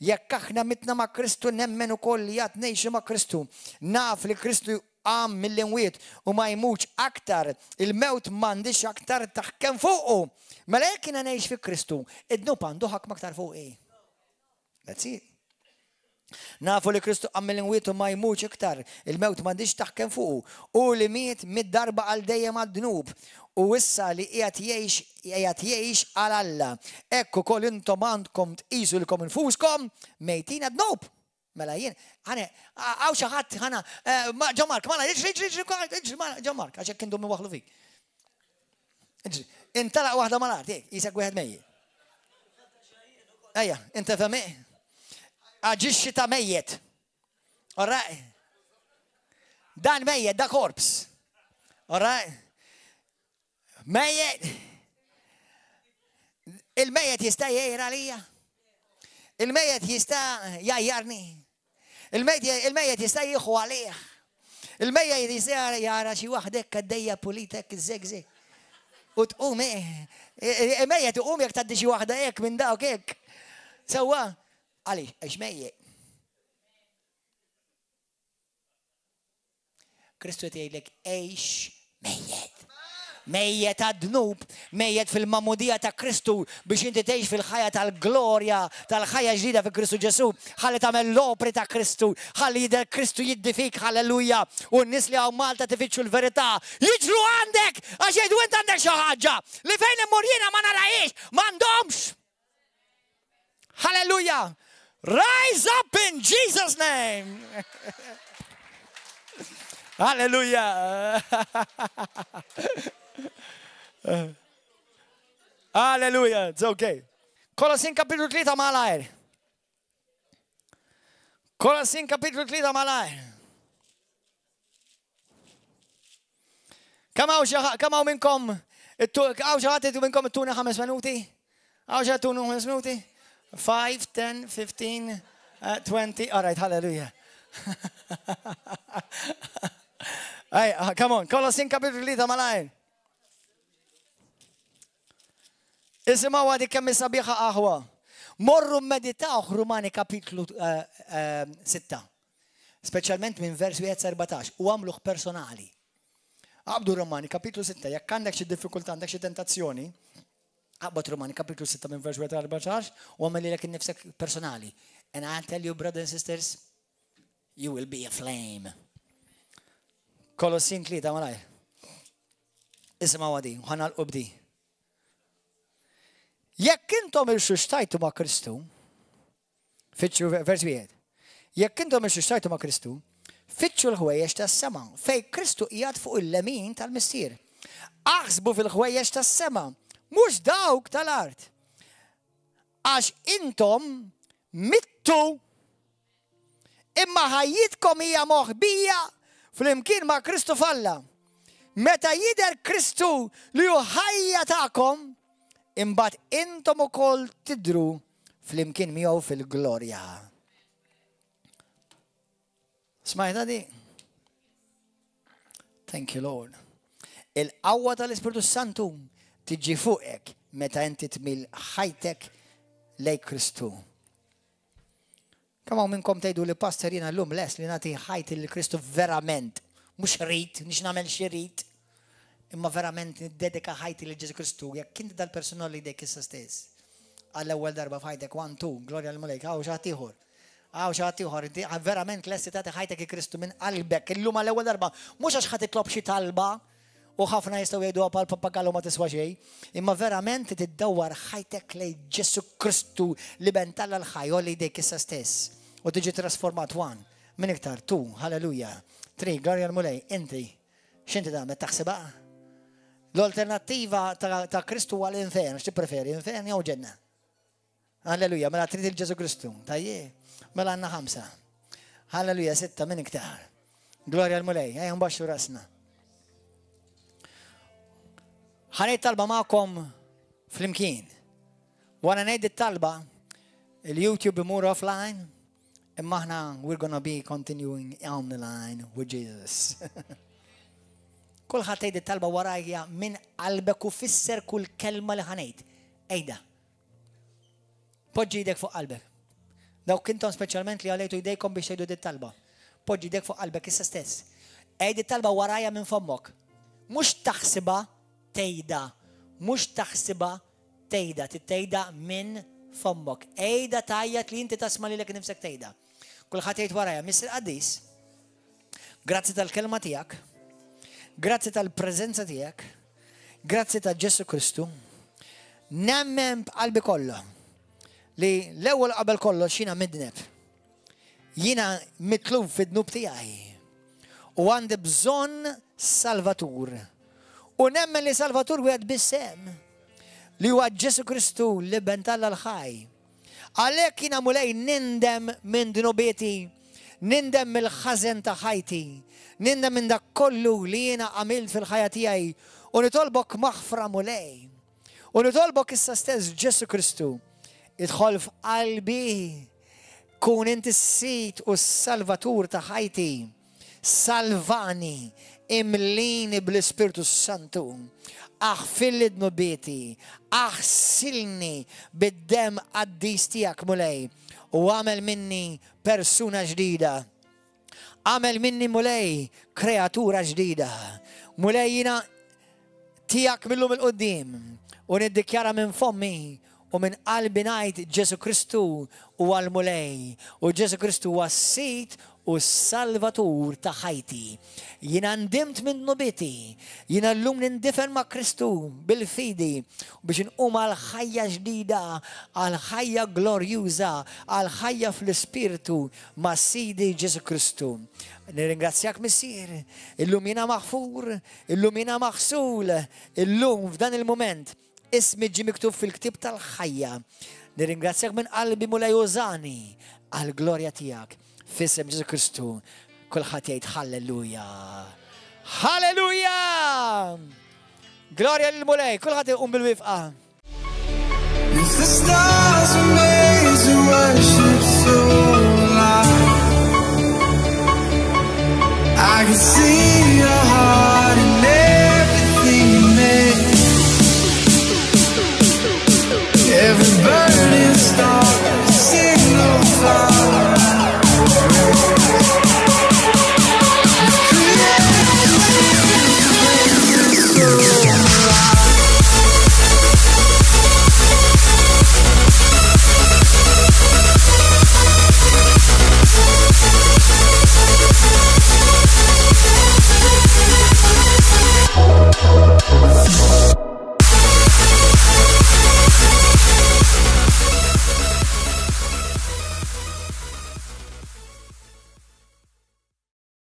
Jekk aħna mitna ma' Kristu nemmen ukoll li għad ngħixu ma' Kristu. Naf li Kristu qam mill-imwiet u ma jmutx aktar, il-mewt m'għandhiex aktar taħkem fuqu. Mela jekk jiena ngħix fi Kristu, id-dnub għandu ħakma aktar fuqi. That's it. Nafu li Kristu qam mill-imwiet u ma jmutx iktar, il-mewt m'għandhiex taħkem fuqu. Hu li miet miet darba għal dejjem għad-dnub, u issa li qiegħed jgħix, qiegħed jgħix għal Alla. Hekk ukoll intom għandkom tqisu lilkom infuskom mejtin għad-dnub. Mela jien, ħane, hawn xi ħadd ħana, eh, Ġo Mark, mela, iġri, iġri, iġri, iġri, Ġo Mark, għax hekk indum waħlu fik. Intalaq waħda mal-art, jek, jisek wieħed mejjet. Ejja, inta femi? Aġixxi ta' mejjet. All right? Dan mejjet, da korps. All right? Mejjet. Il-mejjet jista' jgħir għalija. Il-mejjet jista' jgħajjarni. Il-mejjet jista' jieħu għalih. Il-mejjet jista' jara xi waħdek għaddejja pulitek iż-żegżeg. U tqum eh. Il-mejjet iqum jekk tgħaddi xi waħda hekk minn dawk hekk. Sewwa, għaliex għax mejjet. Kristu qed jgħidlek għix mejjet. Mejjet għad-dnub, mejjet fil-magħmudija ta' Kristu biex inti tgħix fil-ħajja tal-glorja, tal-ħajja ġdida fi Kristu Ġesù. Ħalli tagħmel l-opri ta' Kristu, ħalli jidher Kristu jiddi fik, halleluja. U n-nies li hawn Malta tifittxu l-verità, jiġru għandek għax jgħidu int għandek xi ħaġa li fejn immur jiena ma narahiex, m'għandhomx. Hallelujah! Rise up in Jesus' name! Hallelujah! Hallelujah, it's okay. Kolossin kapitlu 3 malajr. Kolossin kapitlu 3 malajr. Kemm hawn xi kemm hawn minnkom hawn xi ħadd minnkom ittuna ħames minuti? Hawn xi ħadd tunu ħames minuti? 5, 10, 15, 20, all right, hallelujah. Hey, uh, come on, Kolossin kapitlu 3 malajr. Isimgħu għadi kemm sabiħa aħwa. Morru meditaw Rumani kapitlu 6. Eh, eh, Speċjalment minn vers wieħed sa 14, u għamluh personali. Aqbdu Romani kapitlu 6, jekk għandek xi diffikultà, għandek xi tentazzjoni, aqbad Romani kapitlu 6 minn vers wieħed 14 u għamel lilek innifsek personali. And I tell you, brothers and sisters, you will be a flame. Kolossin 3 malaj. Isimgħu għadi, ħanal bdi. Jekk intom irxuxtajtu ma' Kristu, fittxu vers wieħed. Jekk intom irxuxtajtu ma' Kristu, fittxu l-ħwejjeġ tas-sema, fej Kristu qiegħed fuq il-lemin tal-Missier. Aħsbu fil-ħwejjeġ tas-sema, mhux dawk tal-art. Għax intom mittu imma ħajjitkom hija moħbija flimkien ma' Kristu f'Alla. Meta jidher Kristu li hu ħajja tagħkom, imbagħad intom ukoll tidhru flimkien miegħu fil-glorja. Smajta di? Thank you, Lord. Il-qawwa tal-Ispirtu Santu tiġi fuqek meta inti tmil ħajtek lej Kristu. Kemm hawn minnkom tgħidu li pastor jiena llum lest li nagħti ħajti lil Kristu verament, mhux rit, nix nagħmel xi rit, imma verament niddedika ħajti lil Ġesu Kristu, jekk inti dal-persuna li jdejk issa stess. Għall-ewwel darba f'ħajtek, one, two, glorja l-Mulej, hawn xi ħadd ieħor. Hawn xi ħadd ieħor, inti verament lesti tagħti ħajtek Kristu minn qalbek illum għall-ewwel darba, mhux għax ħa titlob xi talba, U ħafna jistgħu jgħiduha bħal pappagallu ma tiswa xejn, imma verament tiddawwar ħajtek lejn Ġesù Kristu l-Iben t'Alla l-ħaj, għolli jdejk issa stess u tiġi trasformat one, min iktar, two, hallelujah, three, glorja l-Mulej, inti, x'inti tagħmel taħsibha? L-alternattiva ta' Kristu huwa l-infern, x'tippreferi, infern jew ġenna? Alleluja, mela trid il-Ġesu Kristu. Tajje, mela għandna ħamsa. Alleluja, sitta minn iktar. Glorja l-Mulej, ejja nbaxxu rasna. Ħanejt talba magħkom flimkien. Wara ngħid it-talba, il-YouTube imur offline, imma aħna we're gonna be continuing on the line with Jesus. Kulħadd tgħid it-talba warajja minn qalbek u fisser kull kelma li ħanejt. Ejda. Poġġi jdek fuq qalbek. Dawk intom speċjalment li għalejtu jdejkom biex tgħidu dit talba. Poġġi jdek fuq qalbek issa stess. Għid it-talba warajja minn fommok. Mhux taħsibha tgħidha. Mhux taħsibha tgħidha, tgħidha minn fommok. Għidha tgħajjat li inti tasma' lilek nifsek tgħidha. Kulħadd jgħid warajja, Missier Qaddis, grazzi tal-kelma tiegħek, grazzi tal-preżenza tiegħek, Grazzi ta' Ġesù Kristu, nemmen b'qalbi kollha li l-ewwel qabel kollox jiena midneb. Jiena mitluf fid-dnub tiegħi u għandi bżonn Salvatur. U nemmen li Salvatur wieħed biss hemm li huwa Ġesù Kristu l-Iben t'Alla l-ħaj. Għalhekk jiena Mulej nindem minn dnubieti, nindem mill-ħażen ta' ħajti, nindem minn dak kollu li jiena għamilt fil-ħajja tiegħi u nitolbok maħfra Mulej. U nitolbok issa stess Ġesù Kristu, idħol f'qalbi, kun inti s-Sid u s-Salvatur ta' ħajti. Salvani, imlini bl-Ispirtu s-Santu, aħfirli dnubieti, aħsilni bid-demm qaddis tiegħek, Mulej, u agħmel minni persuna ġdida. Agħmel minni, Mulej, kreatura ġdida. Mulej, jiena tiegħek mil-lum 'il quddiem u niddikjara minn fommi u minn qalbi ngħid Ġesù Kristu huwa l-Mulej u Ġesù Kristu huwa s-Sid u s-Salvatur ta' ħajti. Jiena ndimt minn dnubieti. Jiena llum nindifen ma' Kristu bil-fidi biex inqum għal ħajja ġdida, għal ħajja glorjuża, għal ħajja fl-Ispirtu ma' Sidi Ġesù Kristu. Nirringrazzjak Missier, illum jiena maħfur, Illum jiena maħsul, illum f'dan il-mument, ismi ġie miktub fil-ktieb tal-ħajja. Nirringrazzjak minn qalbi Mulej użani għall-glorja tiegħek. F'isem Ġesù Kristu, kulħadd jgħid halleluja. Halleluja! Glorja lill-Mulej, kulħadd iqum bil-wifqa. If the stars were made to worship so loud, I can see.